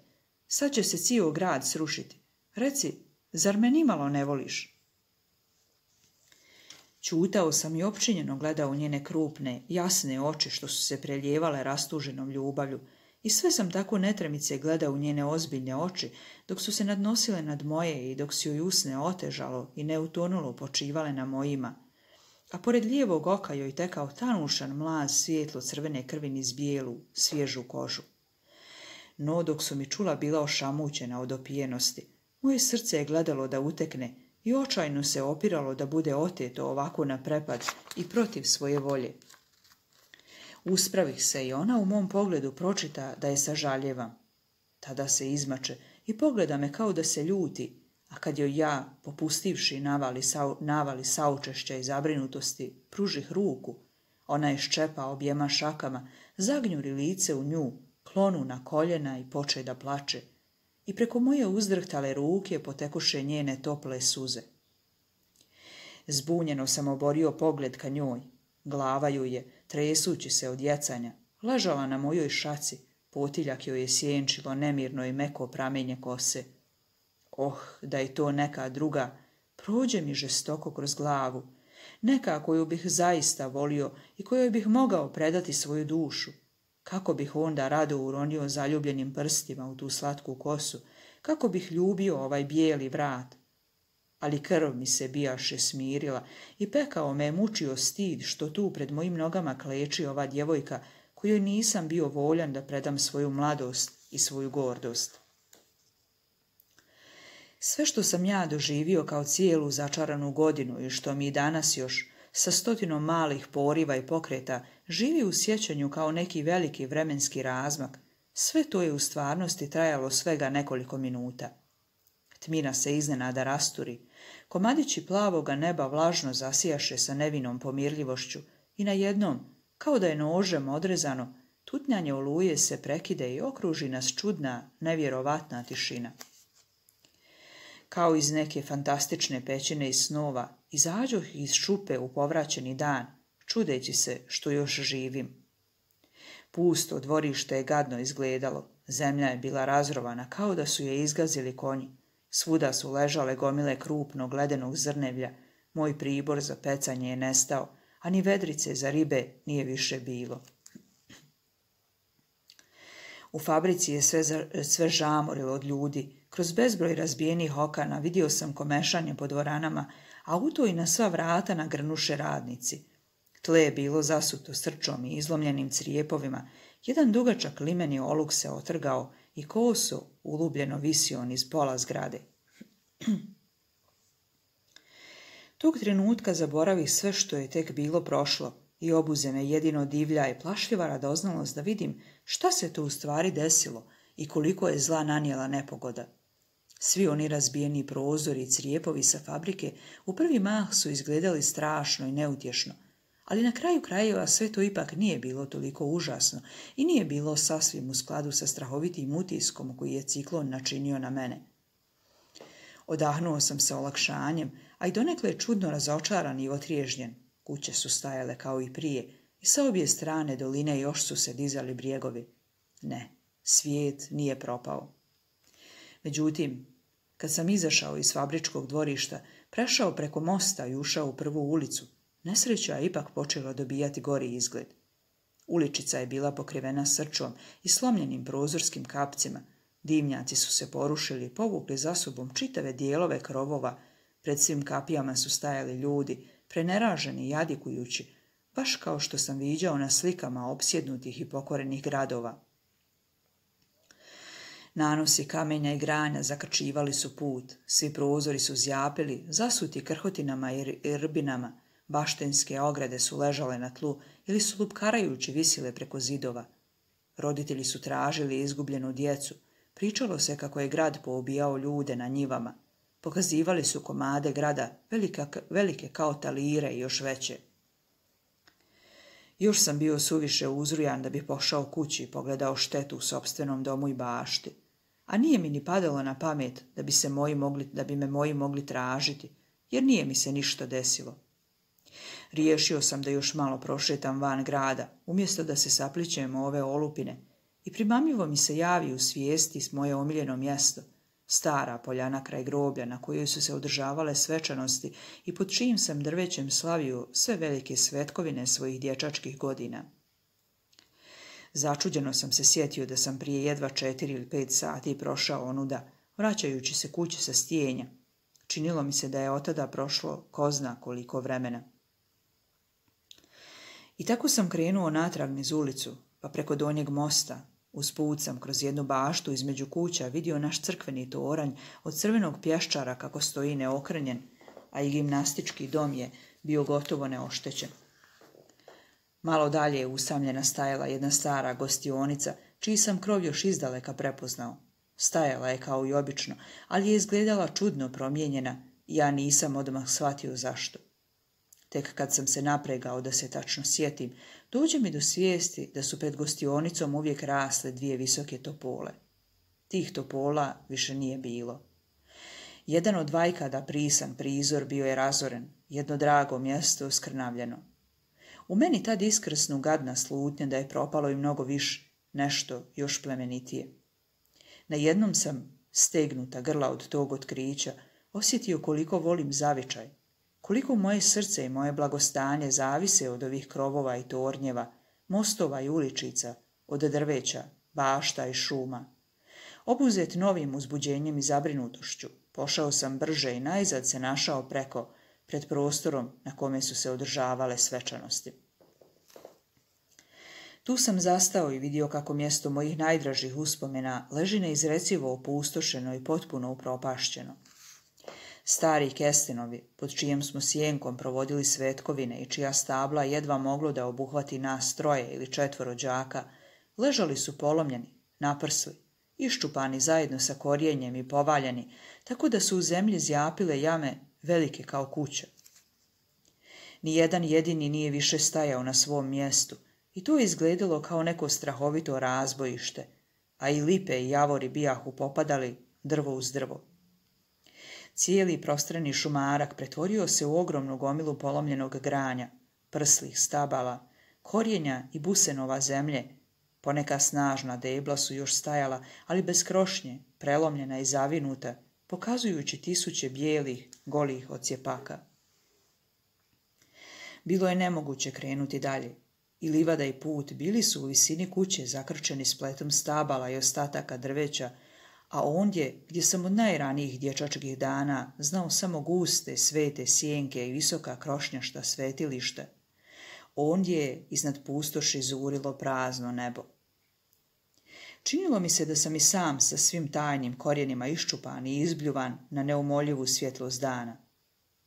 sad će se cijel grad srušiti. Reci, zar me nimalo ne voliš? Ćutao sam i opčinjeno gledao u njene krupne, jasne oči što su se preljevale rastuženom ljubavlju i sve sam tako netremice gledao u njene ozbiljne oči dok su se nadnosile nad moje i dok si joj usne otežalo i neutonulo počivale na mojima, a pored lijevog oka joj tekao tanušan mlaz svijetlo crvene krvi niz bijelu, svježu kožu. No dok su mi čula bila ošamućena od opijenosti, moje srce je gledalo da utekne i očajno se opiralo da bude oteto ovako na prepad i protiv svoje volje. Uspravih se i ona u mom pogledu pročita da je sažaljevam. Tada se izmače i pogleda me kao da se ljuti, a kad joj ja, popustivši navali saučešća i zabrinutosti, pružih ruku, ona je ščepa objema šakama, zagnjuri lice u nju, klonu na koljena i poče da plače. I preko moje uzdrhtale ruke potekuše njene tople suze. Zbunjeno sam oborio pogled ka njoj. Glava ju je, tresući se od jecanja, ležala na mojoj šaci, potiljak joj je sjenčilo nemirno i meko pramenje kose. Oh, da je to neka druga, prođe mi žestoko kroz glavu, neka koju bih zaista volio i kojoj bih mogao predati svoju dušu. Kako bih onda rado uronio zaljubljenim prstima u tu slatku kosu, kako bih ljubio ovaj bijeli vrat. Ali krv mi se bijaše smirila i pekao me je mučio stid što tu pred mojim nogama kleči ova djevojka kojoj nisam bio voljan da predam svoju mladost i svoju gordost. Sve što sam ja doživio kao cijelu začaranu godinu i što mi danas još sa 100 malih poriva i pokreta živi u sjećanju kao neki veliki vremenski razmak, sve to je u stvarnosti trajalo svega nekoliko minuta. Tmina se iznenada rasturi, komadići plavoga neba vlažno zasijaše sa nevinom pomirljivošću i najednom, kao da je nožem odrezano, tutnjanje oluje se prekide i okruži nas čudna, nevjerovatna tišina. Kao iz neke fantastične pećine iz snova, izađoh iz šupe u povraćeni dan, čudeći se što još živim. Pusto dvorište je gadno izgledalo, zemlja je bila razrovana kao da su je izgazili konji. Svuda su ležale gomile krupnog ledenog zrnevlja, moj pribor za pecanje je nestao, a ni vedrice za ribe nije više bilo. U fabrici je sve žamorilo od ljudi. Kroz bezbroj razbijenih okana vidio sam komešanje po dvoranama, a u to i na sva vrata nagrnuše radnici. Tle je bilo zasuto srčom i izlomljenim crijepovima, jedan dugačak limeni oluk se otrgao i koso ulubljeno visio on iz pola zgrade. Tog trenutka zaboravih sve što je tek bilo prošlo i obuze me jedino divlja i plašljiva radoznalost da vidim šta se tu u stvari desilo i koliko je zla nanijela nepogoda. Svi oni razbijeni prozori i crijepovi sa fabrike u prvi mah su izgledali strašno i neutješno, ali na kraju krajeva sve to ipak nije bilo toliko užasno i nije bilo sasvim u skladu sa strahovitim utiskom koji je ciklon načinio na mene. Odahnuo sam sa olakšanjem, a i donekle čudno razočaran i otriježnjen. Kuće su stajale kao i prije i sa obje strane doline još su se dizali brijegovi. Ne, svijet nije propao. Međutim, kad sam izašao iz fabričkog dvorišta, prešao preko mosta i ušao u prvu ulicu, nesreća je ipak počela dobijati gori izgled. Uličica je bila pokrivena srčom i slomljenim prozorskim kapcima. Dimnjaci su se porušili i povukli za sobom čitave dijelove krovova. Pred svim kapijama su stajali ljudi, preneraženi i jadikujući, baš kao što sam viđao na slikama opsjednutih i pokorenih gradova. Nanosi kamenja i granja zakrčivali su put, svi prozori su zjapili, zasuti krhotinama i rbinama, baštenske ograde su ležale na tlu ili su lupkarajući visile preko zidova. Roditelji su tražili izgubljenu djecu, pričalo se kako je grad poubijao ljude na njivama, pokazivali su komade grada, velike kao talire i još veće. Još sam bio suviše uzrujan da bi pošao kući i pogledao štetu u sopstvenom domu i bašti, a nije mi ni padalo na pamet da bi me moji mogli tražiti, jer nije mi se ništa desilo. Riješio sam da još malo prošetam van grada, umjesto da se saplićem ove olupine, i primamljivo mi se javi u svijesti s moje omiljeno mjesto, stara poljana kraj groblja na kojoj su se održavale svečanosti i pod čijim sam drvećem slavio sve velike svetkovine svojih dječačkih godina. Začuđeno sam se sjetio da sam prije jedva 4 ili 5 sati prošao onuda, vraćajući se kući sa stijenja. Činilo mi se da je od tada prošlo ko zna koliko vremena. I tako sam krenuo natrag niz ulicu, pa preko donjeg mosta. Usput sam kroz jednu baštu između kuća vidio naš crkveni toranj od crvenog pješčara kako stoji neokrenjen, a i gimnastički dom je bio gotovo neoštećen. Malo dalje je usamljena stajala jedna stara gostionica, čiji sam krov još izdaleka prepoznao. Stajala je kao i obično, ali je izgledala čudno promijenjena i ja nisam odmah shvatio zašto. Tek kad sam se napregao da se tačno sjetim, dođe mi do svijesti da su pred gostionicom uvijek rasle 2 visoke topole. Tih topola više nije bilo. Jedan od vajkada prisan prizor bio je razoren, jedno drago mjesto skrnavljeno. U meni tad iskrsnu gadna slutnja da je propalo i mnogo više, nešto još plemenitije. Najednom sam, stegnuta grla od tog otkrića, osjetio koliko volim zavičaj, koliko moje srce i moje blagostanje zavise od ovih krovova i tornjeva, mostova i uličica, od drveća, bašta i šuma. Obuzet novim uzbuđenjem i zabrinutošću, pošao sam brže i najzad se našao pred prostorom na kome su se održavale svečanosti. Tu sam zastao i vidio kako mjesto mojih najdražih uspomena leži neizrecivo opustošeno i potpuno upropašćeno. Stari kestenovi, pod čijem smo sjenkom provodili svetkovine i čija stabla jedva moglo da obuhvati nas 3 ili 4 đaka, ležali su polomljeni, naprsli, iščupani zajedno sa korijenjem i povaljeni, tako da su u zemlji zjapile jame velike kao kuća. Nijedan jedini nije više stajao na svom mjestu i to je izgledalo kao neko strahovito razbojište, a i lipe i javori bijahu popadali drvo uz drvo. Cijeli prostrani šumarak pretvorio se u ogromnu gomilu polomljenog granja, prslih stabala, korijenja i busenova zemlje. Poneka snažna debla su još stajala, ali bez krošnje, prelomljena i zavinuta, pokazujući tisuće bijelih, golih odsjepaka. Bilo je nemoguće krenuti dalje. I livada i put bili su u visini kuće zakrčeni spletom stabala i ostataka drveća, a ondje, gdje sam od najranijih dječačkih dana znao samo guste, svete sjenke i visoka krošnjašta svetilišta, ondje je iznad pustoši zurilo prazno nebo. Činilo mi se da sam i sam sa svim tajnim korijenima iščupan i izbljuvan na neumoljivu svjetlost dana.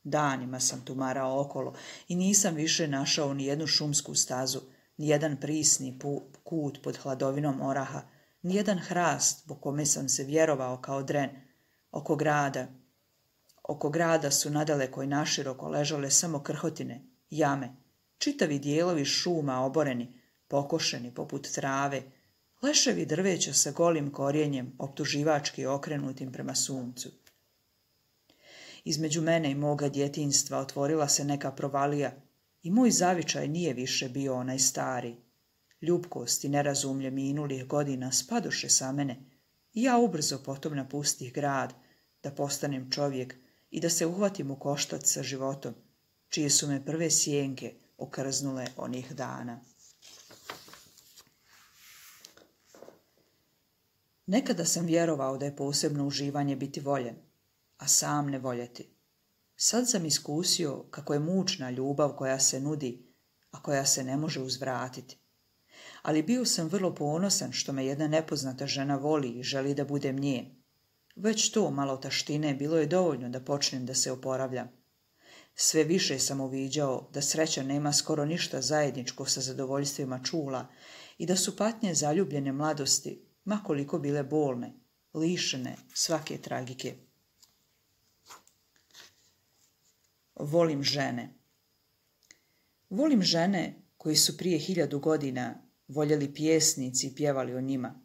Danima sam tumarao okolo i nisam više našao ni jednu šumsku stazu, ni jedan prisni kut pod hladovinom oraha, ni jedan hrast po kome sam se vjerovao kao dren. Oko grada su nadaleko i naširoko ležale samo krhotine, jame, čitavi dijelovi šuma oboreni, pokošeni poput trave, leševi drveća sa golim korijenjem optuživački okrenutim prema suncu. Između mene i moga djetinjstva otvorila se neka provalija i moj zavičaj nije više bio onaj stari. Ljubkost i nerazumlje minulih godina spadoše sa mene i ja ubrzo potom napustih grad, da postanem čovjek i da se uhvatim u koštac sa životom, čije su me prve sjenke okrznule onih dana. Nekada sam vjerovao da je posebno uživanje biti voljen, a sam ne voljeti. Sad sam iskusio kako je mučna ljubav koja se nudi, a koja se ne može uzvratiti. Ali bio sam vrlo ponosan što me jedna nepoznata žena voli i želi da budem njen. Već to malo taštine bilo je dovoljno da počnem da se oporavljam. Sve više sam uviđao da sreća nema skoro ništa zajedničko sa zadovoljstvima čula i da su patnje zaljubljene mladosti, ma koliko bile bolne, lišene svake tragike. Volim žene. Volim žene koji su prije 1000 godina voljeli pjesnici i pjevali o njima.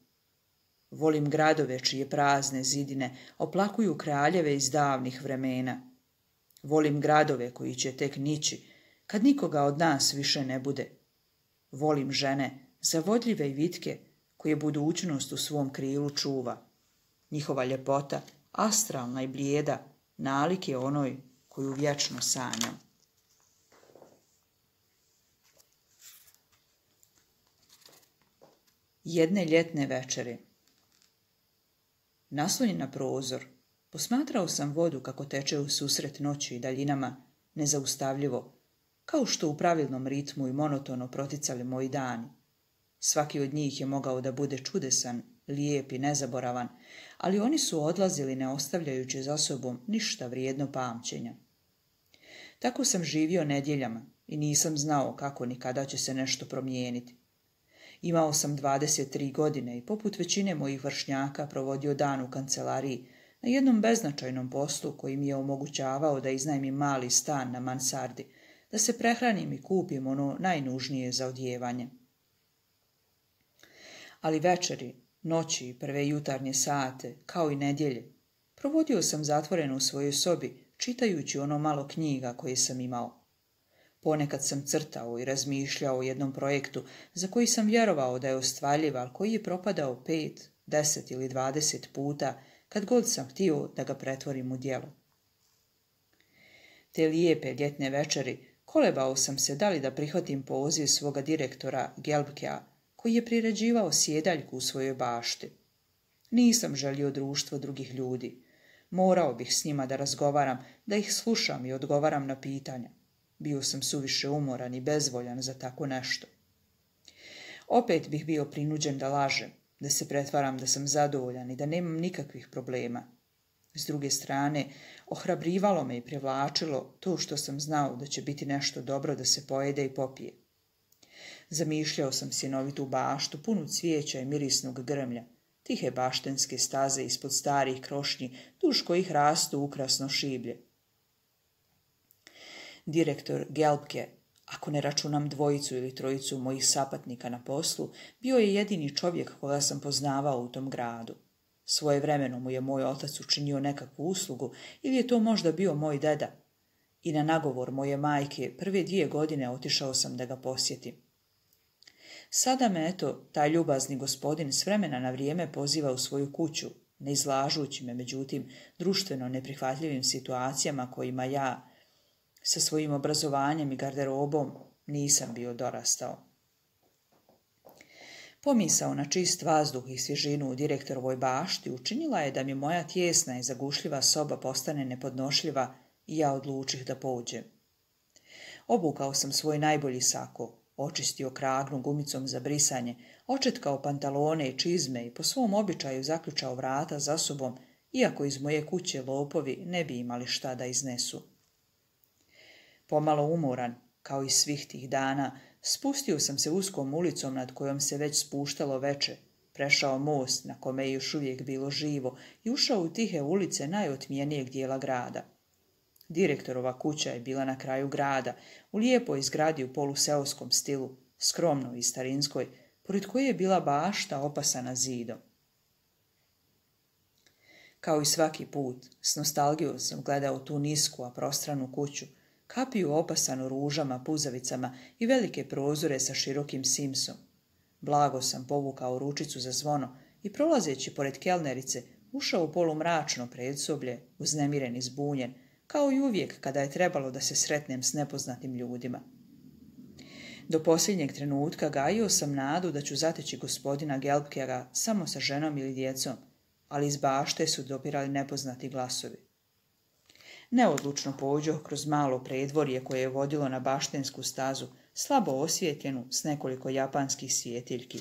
Volim gradove čije prazne zidine oplakuju kraljeve iz davnih vremena. Volim gradove koji će tek nići, kad nikoga od nas više ne bude. Volim žene zavodljive i vitke, koje budućnost u svom krilu čuva. Njihova ljepota, astralna i blijeda, nalik je onoj koju vječno sanjam. Jedne ljetne večeri. Naslonjen na prozor, posmatrao sam vodu kako teče u susret noći i daljinama, nezaustavljivo, kao što u pravilnom ritmu i monotono proticali moji dani. Svaki od njih je mogao da bude čudesan, lijep i nezaboravan, ali oni su odlazili ne ostavljajući za sobom ništa vrijedno pamćenja. Tako sam živio nedjeljama i nisam znao kako ni kada će se nešto promijeniti. Imao sam 23 godine i poput većine mojih vršnjaka provodio dan u kancelariji na jednom beznačajnom poslu koji mi je omogućavao da iznajmim mali stan na mansardi, da se prehranim i kupim ono najnužnije za odjevanje. Ali večeri, noći i prve jutarnje sate, kao i nedjelje, provodio sam zatvoren u svojoj sobi, čitajući ono malo knjiga koje sam imao. Ponekad sam crtao i razmišljao o jednom projektu za koji sam vjerovao da je ostvarljiv, ali koji je propadao 5, 10 ili 20 puta kad god sam htio da ga pretvorim u djelo. Te lijepe ljetne večeri kolebao sam se da li da prihvatim poziv svoga direktora Gelbkea, koji je priređivao sjedaljku u svojoj bašti. Nisam želio društvo drugih ljudi. Morao bih s njima da razgovaram, da ih slušam i odgovaram na pitanja. Bio sam suviše umoran i bezvoljan za tako nešto. Opet bih bio prinuđen da lažem, da se pretvaram da sam zadovoljan i da nemam nikakvih problema. S druge strane, ohrabrivalo me i privlačilo to što sam znao da će biti nešto dobro da se pojede i popije. Zamišljao sam sjenovitu baštu, punu cvijeća i mirisnog grmlja, tihe baštenske staze ispod starih krošnji, duž kojih rastu ukrasno šiblje. Direktor Gelbke, ako ne računam dvojicu ili trojicu mojih sapatnika na poslu, bio je jedini čovjek koga sam poznavao u tom gradu. Svojevremeno mu je moj otac učinio nekakvu uslugu ili je to možda bio moj deda. I na nagovor moje majke prve 2 godine otišao sam da ga posjetim. Sada me, eto, taj ljubazni gospodin s vremena na vrijeme poziva u svoju kuću, ne izlažući me, međutim, društveno neprihvatljivim situacijama kojima ja, sa svojim obrazovanjem i garderobom, nisam bio dorastao. Pomisao na čist vazduh i svježinu u direktorovoj bašti učinila je da mi moja tijesna i zagušljiva soba postane nepodnošljiva i ja odlučih da pođem. Obukao sam svoj najbolji sako, očistio kragnu gumicom za brisanje, očetkao pantalone i čizme i po svom običaju zaključao vrata za sobom, iako iz moje kuće lopovi ne bi imali šta da iznesu. Pomalo umoran, kao i svih tih dana, spustio sam se uskom ulicom nad kojom se već spuštalo veče, prešao most na kome je još uvijek bilo živo i ušao u tihe ulice najotmijenijeg dijela grada. Direktorova kuća je bila na kraju grada, u lijepoj zgradi u poluseoskom stilu, skromnoj i starinskoj, pored koje je bila bašta opasana zidom. Kao i svaki put, s nostalgijom sam gledao tu nisku, a prostranu kuću, kapiju opasanu ružama, puzavicama i velike prozore sa širokim simsom. Blago sam povukao ručicu za zvono i prolazeći pored kelnerice ušao u polumračno predsoblje, uznemiren i zbunjen, kao i uvijek kada je trebalo da se sretnem s nepoznatim ljudima. Do posljednjeg trenutka gajio sam nadu da ću zateći gospodina Gelbkera samo sa ženom ili djecom, ali iz bašte su dopirali nepoznati glasovi. Neodlučno pođoh kroz malo predvorje koje je vodilo na baštensku stazu, slabo osvijetljenu s nekoliko japanskih svjetiljki.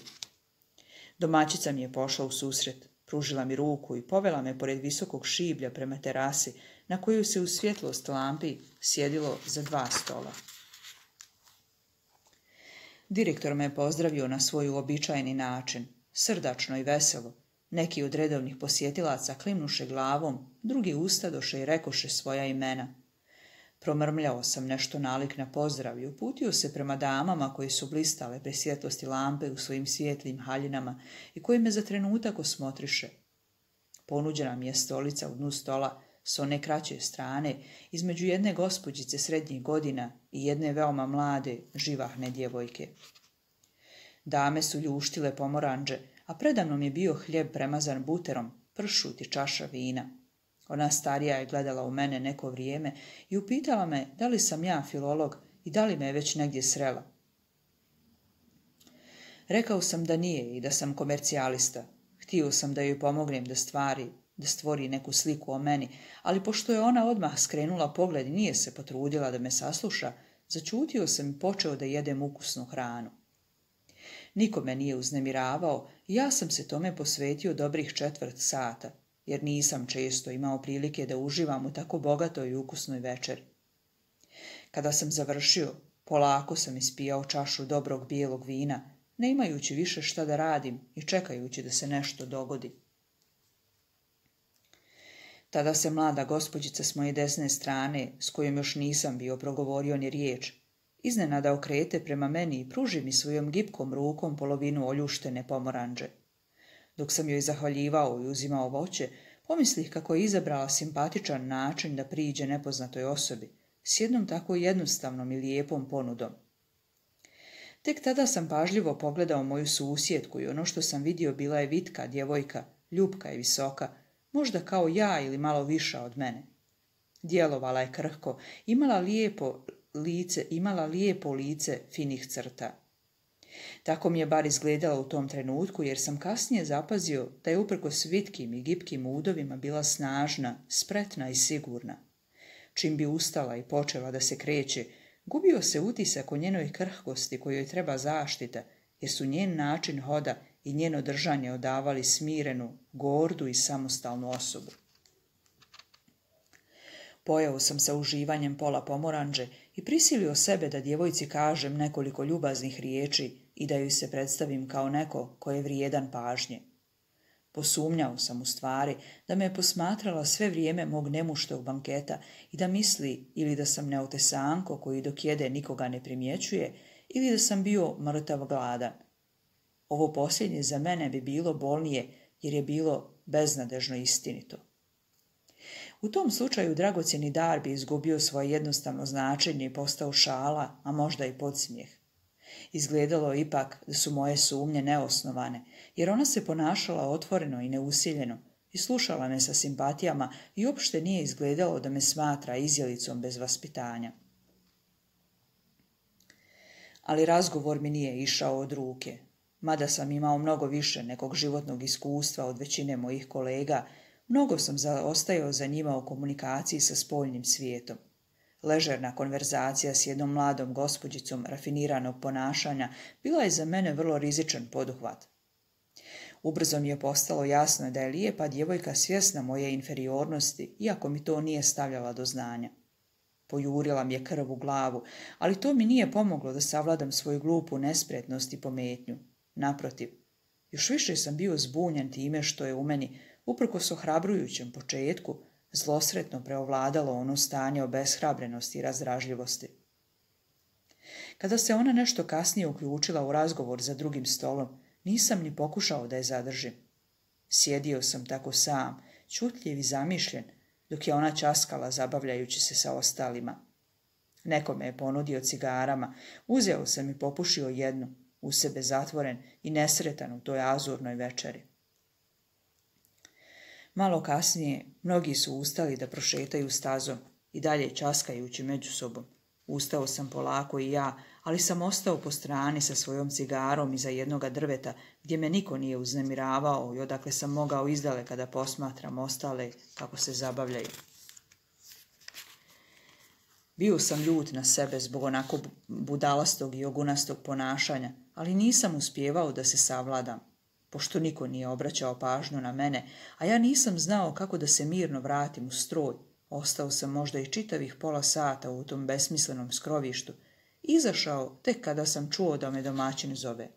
Domaćica mi je pošla u susret, pružila mi ruku i povela me pored visokog šiblja prema terasi, na koju se u svjetlost lampi sjedilo za 2 stola. Direktor me je pozdravio na svoj uobičajeni način, srdačno i veselo. Neki od redovnih posjetilaca klimnuše glavom, drugi ustadoše i rekoše svoja imena. Promrmljao sam nešto nalik na pozdrav i uputio se prema damama koji su blistale pri svjetlosti lampe u svojim svijetlim haljinama i koji me za trenutak osmotriše. Ponuđena mi je stolica u dnu stola s one kraće strane, između jedne gospođice srednjih godina i jedne veoma mlade, živahne djevojke. Dame su ljuštile pomoranđe, a predamnom je bio hljeb premazan buterom, pršut i čaša vina. Ona starija je gledala u mene neko vrijeme i upitala me da li sam ja filolog i da li me je već negdje srela. Rekao sam da nije i da sam komercijalista. Htio sam da joj pomognem da stvori neku sliku o meni, ali pošto je ona odmah skrenula pogled i nije se potrudila da me sasluša, začutio sam i počeo da jedem ukusnu hranu. Niko me nije uznemiravao i ja sam se tome posvetio dobrih 1/4 sata, jer nisam često imao prilike da uživam u tako bogatoj i ukusnoj večeri. Kada sam završio, polako sam ispijao čašu dobrog bijelog vina, ne imajući više šta da radim i čekajući da se nešto dogodi. Tada se mlada gospođica s moje desne strane, s kojom još nisam bio progovorio ni riječ, iznenada okrete prema meni i pruži mi svojom gipkom rukom polovinu oljuštene pomoranđe. Dok sam joj zahvaljivao i uzimao voće, pomislih kako je izabrala simpatičan način da priđe nepoznatoj osobi, s jednom tako jednostavnom i lijepom ponudom. Tek tada sam pažljivo pogledao moju susjedku i ono što sam vidio bila je vitka djevojka, ljupka i visoka, možda kao ja ili malo viša od mene. Djelovala je krhko, imala lijepo lice finih crta. Tako mi je bar izgledalo u tom trenutku, jer sam kasnije zapazio da je uprkos vitkim i gipkim udovima bila snažna, spretna i sigurna. Čim bi ustala i počela da se kreće, gubio se utisak o njenoj krhkosti kojoj treba zaštita, jer su njen način hoda i njeno držanje odavali smirenu, gordu i samostalnu osobu. Pojeo sam sa uživanjem pola pomoranđe i prisilio sebe da djevojci kažem nekoliko ljubaznih riječi i da joj se predstavim kao neko ko je vrijedan pažnje. Posumnjao sam u stvari da me je posmatrala sve vrijeme mog nemuštog banketa i da misli ili da sam neotesanko koji dok jede nikoga ne primjećuje ili da sam bio mrtav gladan. Ovo posljednje za mene bi bilo bolnije jer je bilo beznadežno istinito. U tom slučaju dragocjeni dar bi izgubio svoje jednostavno značenje i postao šala, a možda i podsmijeh. Izgledalo je ipak da su moje sumnje neosnovane, jer ona se ponašala otvoreno i neusiljeno i slušala me sa simpatijama i uopšte nije izgledalo da me smatra izjelicom bez vaspitanja. Ali razgovor mi nije išao od ruke. Mada sam imao mnogo više nekog životnog iskustva od većine mojih kolega, mnogo sam zaostajao za njima u komunikaciji sa spoljnim svijetom. Ležerna konverzacija s jednom mladom gospođicom rafiniranog ponašanja bila je za mene vrlo rizičan poduhvat. Ubrzo mi je postalo jasno da je lijepa djevojka svjesna moje inferiornosti, iako mi to nije stavljala do znanja. Pojurila mi je krv u glavu, ali to mi nije pomoglo da savladam svoju glupu nespretnost i pometnju. Naprotiv, još više sam bio zbunjen time što je u meni, uprkos ohrabrujućem početku, zlosretno preovladalo ono stanje obeshrabrenosti i razdražljivosti. Kada se ona nešto kasnije uključila u razgovor za drugim stolom, nisam ni pokušao da je zadržim. Sjedio sam tako sam, čutljiv i zamišljen, dok je ona ćaskala zabavljajući se sa ostalima. Neko me je ponudio cigarama, uzeo sam i popušio jednu, u sebe zatvoren i nesretan u toj azurnoj večeri. Malo kasnije mnogi su ustali da prošetaju stazom i dalje ćaskajući među sobom. Ustao sam polako i ja, ali sam ostao po strani sa svojom cigarom iza jednoga drveta gdje me niko nije uznemiravao i odakle sam mogao izdaleka da posmatram ostale kako se zabavljaju. Bio sam ljut na sebe zbog onako budalastog i ogunastog ponašanja, ali nisam uspijevao da se savladam. Pošto niko nije obraćao pažnju na mene, a ja nisam znao kako da se mirno vratim u stroj, ostao sam možda i čitavih pola sata u tom besmislenom skrovištu, izašao tek kada sam čuo da me domaćin zove.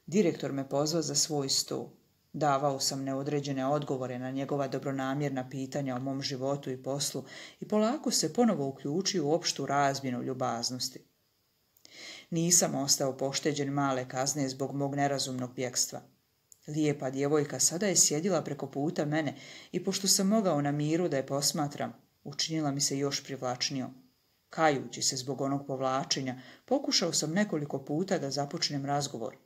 Direktor me pozvao za svoj sto. Davao sam neodređene odgovore na njegova dobronamjerna pitanja o mom životu i poslu i polako se ponovo uključio u opštu razmjenu ljubaznosti. Nisam ostao pošteđen male kazne zbog mog nerazumnog bjekstva. Lijepa djevojka sada je sjedila preko puta mene i pošto sam mogao na miru da je posmatram, učinila mi se još privlačnijom. Kajući se zbog onog povlačenja, pokušao sam nekoliko puta da započnem razgovor.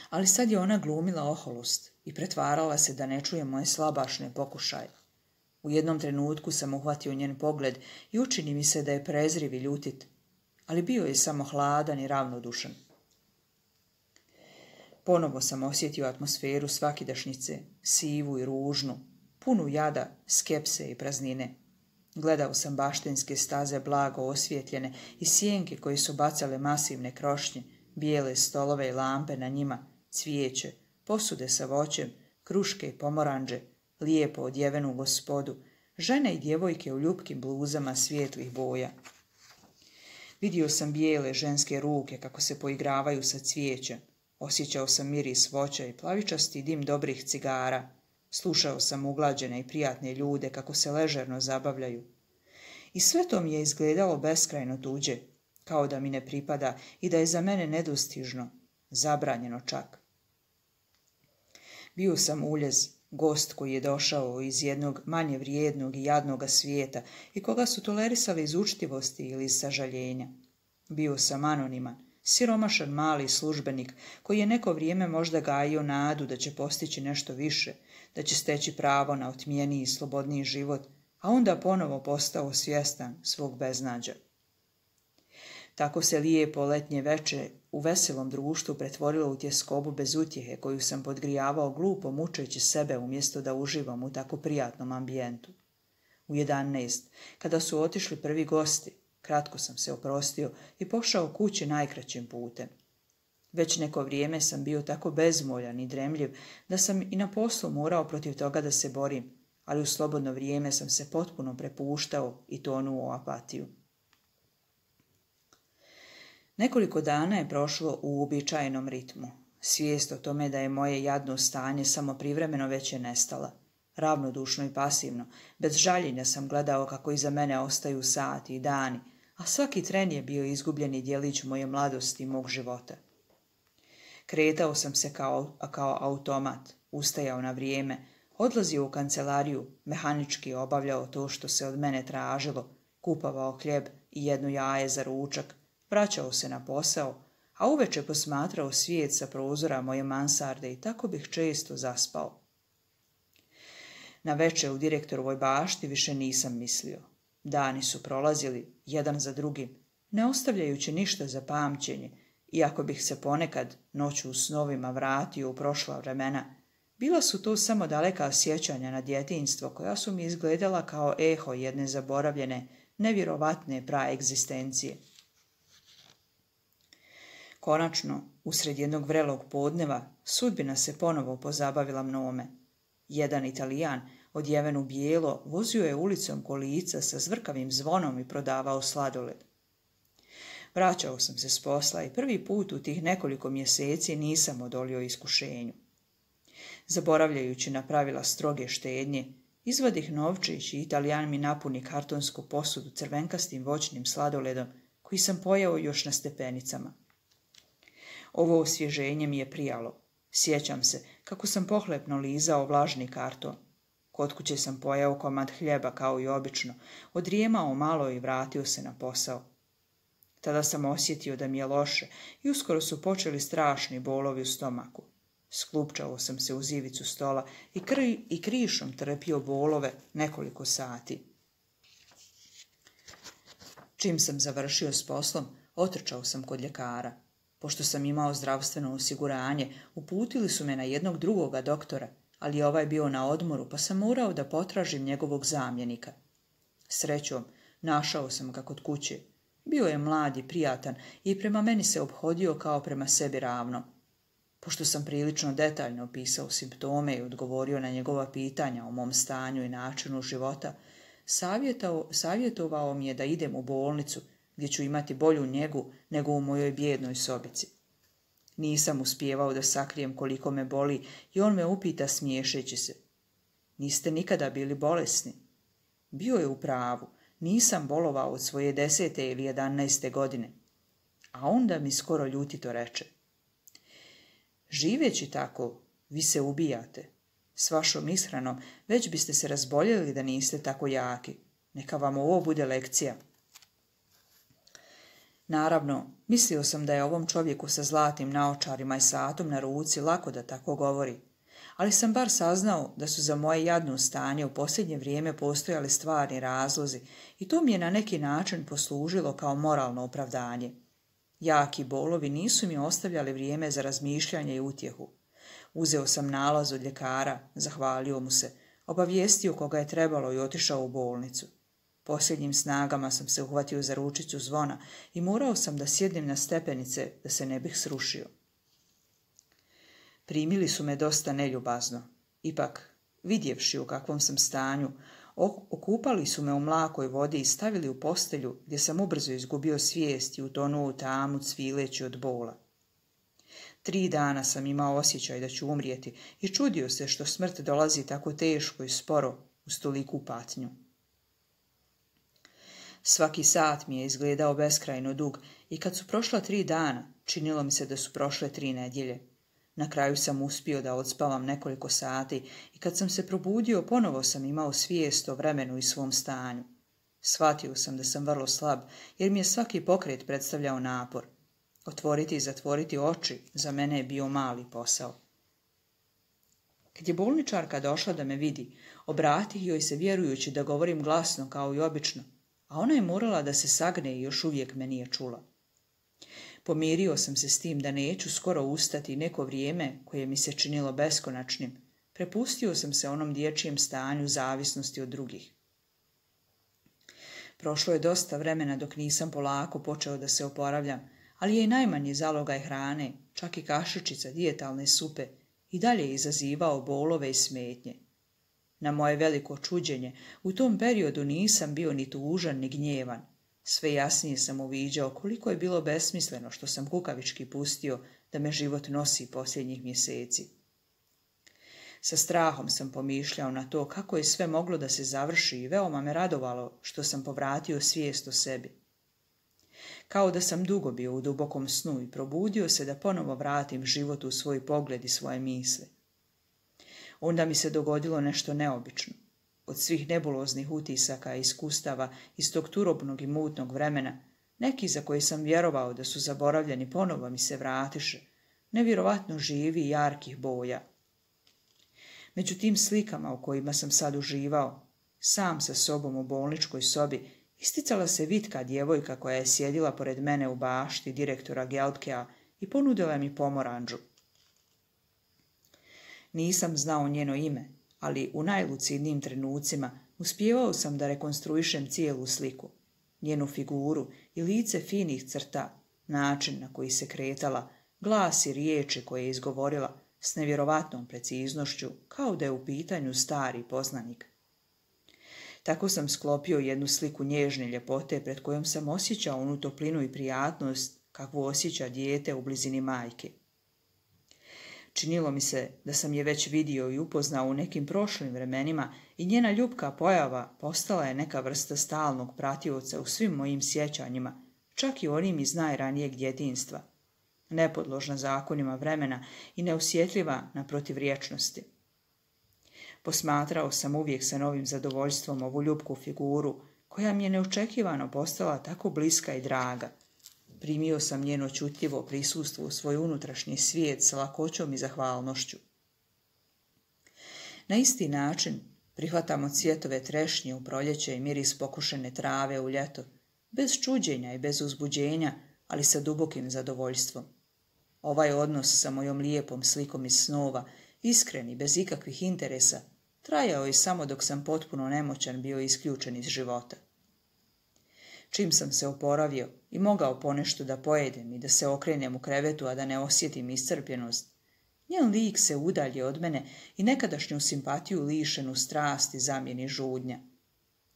Ali sad je ona glumila oholost i pretvarala se da ne čuje moje slabašne pokušaje. U jednom trenutku sam uhvatio njen pogled i učini mi se da je prezriv i ljutit, ali bio je samo hladan i ravnodušan. Ponovo sam osjetio atmosferu svakidašnjice, sivu i ružnu, punu jada, skepse i praznine. Gledao sam baštenske staze blago osvjetljene i sjenke koje su bacale masivne krošnje, bijele stolove i lampe na njima, cvijeće, posude sa voćem, kruške i pomoranđe, lijepo odjevenu gospodu, žene i djevojke u ljupkim bluzama svijetlih boja. Vidio sam bijele ženske ruke kako se poigravaju sa cvijećem, osjećao sam miris voća i plavičasti dim dobrih cigara, slušao sam uglađene i prijatne ljude kako se ležerno zabavljaju. I sve to mi je izgledalo beskrajno tuđe, kao da mi ne pripada i da je za mene nedostižno, zabranjeno čak. Bio sam uljez, gost koji je došao iz jednog manje vrijednog i jadnoga svijeta i koga su tolerisali iz učtivosti ili iz sažaljenja. Bio sam anoniman, siromašan mali službenik koji je neko vrijeme možda gajio nadu da će postići nešto više, da će steći pravo na otmijeniji i slobodniji život, a onda ponovo postao svjestan svog beznađa. Tako se lijepo letnje veče u veselom društvu pretvorilo u tjeskobu bez utjehe koju sam podgrijavao glupo mučeći sebe umjesto da uživam u tako prijatnom ambijentu. U 11, kada su otišli prvi gosti, kratko sam se oprostio i pošao kući najkraćim putem. Već neko vrijeme sam bio tako bezmoljan i dremljiv da sam i na poslu morao protiv toga da se borim, ali u slobodno vrijeme sam se potpuno prepuštao i tonuo u apatiju. Nekoliko dana je prošlo u uobičajenom ritmu. Svijest o tome da je moje jadno stanje samo privremeno već je nestala. Ravnodušno i pasivno, bez žaljenja sam gledao kako iza mene ostaju sati i dani, a svaki tren je bio izgubljeni djelić moje mladosti i mog života. Kretao sam se kao automat, ustajao na vrijeme, odlazio u kancelariju, mehanički obavljao to što se od mene tražilo, kupovao hljeb i jedno jaje za ručak, vraćao se na posao, a uveče posmatrao svijet sa prozora moje mansarde i tako bih često zaspao. Na večer u direktorovoj bašti više nisam mislio. Dani su prolazili, jedan za drugim, ne ostavljajući ništa za pamćenje, iako bih se ponekad noću u snovima vratio u prošla vremena. Bila su to samo daleka sjećanja na djetinjstvo koja su mi izgledala kao eho jedne zaboravljene, nevjerovatne praegzistencije. Konačno, usred jednog vrelog podneva, sudbina se ponovo pozabavila mnome. Jedan Italijan, odjeven u bijelo, vozio je ulicom kolica sa zvrkavim zvonom i prodavao sladoled. Vraćao sam se s posla i prvi put u tih nekoliko mjeseci nisam odolio iskušenju. Zaboravljajući na pravila stroge štednje, izvadih novčić i Italijan mi napuni kartonsku posudu crvenkastim voćnim sladoledom koji sam pojeo još na stepenicama. Ovo osvježenje mi je prijalo. Sjećam se kako sam pohlepno lizao vlažni karton. Kod kuće sam pojeo komad hljeba kao i obično, odrijemao malo i vratio se na posao. Tada sam osjetio da mi je loše i uskoro su počeli strašni bolovi u stomaku. Sklupčao sam se uz ivicu stola i krišom trpio bolove nekoliko sati. Čim sam završio s poslom, otrčao sam kod ljekara. Pošto sam imao zdravstveno osiguranje, uputili su me na jednog drugoga doktora, ali ovaj bio na odmoru, pa sam morao da potražim njegovog zamjenika. Srećom, našao sam ga kod kuće. Bio je mlad i prijatan i prema meni se ophodio kao prema sebi ravno. Pošto sam prilično detaljno opisao simptome i odgovorio na njegova pitanja o mom stanju i načinu života, savjetovao mi je da idem u bolnicu, gdje ću imati bolju njegu nego u mojoj bijednoj sobici. Nisam uspijevao da sakrijem koliko me boli i on me upita smiješeći se. Niste nikada bili bolesni? Bio je u pravu, nisam bolovao od svoje 10. ili 11. godine. A onda mi skoro ljutito reče. Živeći tako, vi se ubijate. S vašom ishranom već biste se razboljeli da niste tako jaki. Neka vam ovo bude lekcija. Naravno, mislio sam da je ovom čovjeku sa zlatnim naočarima i satom na ruci lako da tako govori, ali sam bar saznao da su za moje jadno stanje u posljednje vrijeme postojali stvarni razlozi i to mi je na neki način poslužilo kao moralno opravdanje. Jaki bolovi nisu mi ostavljali vrijeme za razmišljanje i utjehu. Uzeo sam nalaz od ljekara, zahvalio mu se, obavijestio koga je trebalo i otišao u bolnicu. Posljednjim snagama sam se uhvatio za ručicu zvona i morao sam da sjednem na stepenice da se ne bih srušio. Primili su me dosta neljubazno. Ipak, vidjevši u kakvom sam stanju, okupali su me u mlakoj vodi i stavili u postelju gdje sam ubrzo izgubio svijest i utonuo u tamu cvileći od bola. 3 dana sam imao osjećaj da ću umrijeti i čudio se što smrt dolazi tako teško i sporo uz toliku patnju. Svaki sat mi je izgledao beskrajno dug i kad su prošla 3 dana, činilo mi se da su prošle 3 nedjelje. Na kraju sam uspio da odspavam nekoliko sati i kad sam se probudio, ponovo sam imao svijest o vremenu i svom stanju. Shvatio sam da sam vrlo slab, jer mi je svaki pokret predstavljao napor. Otvoriti i zatvoriti oči za mene je bio mali posao. Kad je bolničarka došla da me vidi, obratih joj se vjerujući da govorim glasno kao i obično, a ona je morala da se sagne i još uvijek me nije čula. Pomirio sam se s tim da neću skoro ustati neko vrijeme koje mi se činilo beskonačnim. Prepustio sam se onom dječjem stanju zavisnosti od drugih. Prošlo je dosta vremena dok nisam polako počeo da se oporavljam, ali je i najmanji zalogaj hrane, čak i kašičica dijetalne supe, i dalje izazivao bolove i smetnje. Na moje veliko čuđenje, u tom periodu nisam bio ni tužan ni gnjevan. Sve jasnije sam uviđao koliko je bilo besmisleno što sam kukavički pustio da me život nosi posljednjih mjeseci. Sa strahom sam pomišljao na to kako je sve moglo da se završi i veoma me radovalo što sam povratio svijest o sebi. Kao da sam dugo bio u dubokom snu i probudio se da ponovo vratim životu u svoj pogled i svoje misli. Onda mi se dogodilo nešto neobično. Od svih nebuloznih utisaka i iskustava iz tog turobnog i mutnog vremena, neki za koje sam vjerovao da su zaboravljeni ponovo mi se vratiše, nevjerovatno živi i jarkih boja. Među tim slikama u kojima sam sad uživao, sam sa sobom u bolničkoj sobi, isticala se vitka djevojka koja je sjedila pored mene u bašti direktora Gelbkea i ponudila mi pomoranđu. Nisam znao njeno ime, ali u najlucidnijim trenucima uspijevao sam da rekonstruišem cijelu sliku, njenu figuru i lice finih crta, način na koji se kretala, glas i riječi koje je izgovorila s nevjerovatnom preciznošću, kao da je u pitanju stari poznanik. Tako sam sklopio jednu sliku nježne ljepote pred kojom sam osjećao onu toplinu i prijatnost kakvu osjeća dijete u blizini majke. Činilo mi se da sam je već vidio i upoznao u nekim prošlim vremenima i njena ljubka pojava postala je neka vrsta stalnog pratioca u svim mojim sjećanjima, čak i onim iz najranijeg djetinjstva, nepodložna zakonima vremena i neosjetljiva na protivrječnosti. Posmatrao sam uvijek sa novim zadovoljstvom ovu ljubku figuru, koja mi je neočekivano postala tako bliska i draga. Primio sam njeno čutljivo prisustvo u svoj unutrašnji svijet sa lakoćom i zahvalnošću. Na isti način prihvatamo cvjetove trešnje u proljeće i miris pokušene trave u ljeto, bez čuđenja i bez uzbuđenja, ali sa dubokim zadovoljstvom. Ovaj odnos sa mojom lijepom slikom iz snova, iskren i bez ikakvih interesa, trajao je samo dok sam potpuno nemoćan bio isključen iz života. Čim sam se oporavio i mogao ponešto da pojedem i da se okrenem u krevetu, a da ne osjetim iscrpljenost, njen lik se udalje od mene i nekadašnju simpatiju lišenu strasti zamijeni žudnja.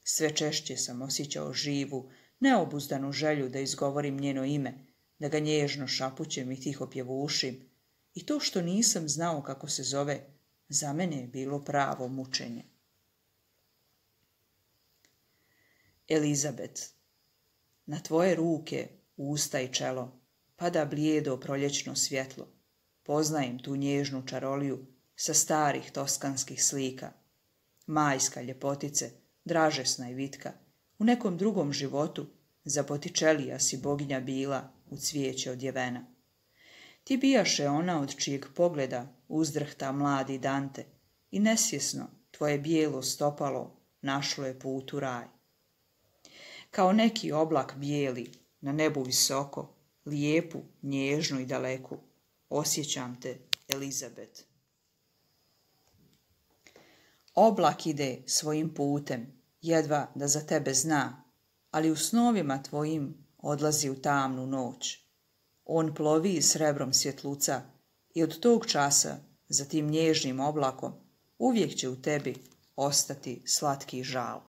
Sve češće sam osjećao živu, neobuzdanu želju da izgovorim njeno ime, da ga nježno šapućem i tiho pjevušim, i to što nisam znao kako se zove, za mene je bilo pravo mučenje. Elizabet, na tvoje ruke, usta i čelo pada blijedo proljećno svjetlo. Poznajem tu nježnu čaroliju sa starih toskanskih slika. Majska ljepotice, dražesna i vitka, u nekom drugom životu za Botičelija si boginja bila u cvijeće odjevena. Ti bijaše ona od čijeg pogleda uzdrhta mladi Dante i nesvjesno tvoje bijelo stopalo našlo je put u raj. Kao neki oblak bijeli na nebu visoko, lijepu, nježnu i daleku, osjećam te, Elizabet. Oblak ide svojim putem, jedva da za tebe zna, ali u snovima tvojim odlazi u tamnu noć. On plovi srebrom svjetluca i od tog časa za tim nježnim oblakom uvijek će u tebi ostati slatki žal.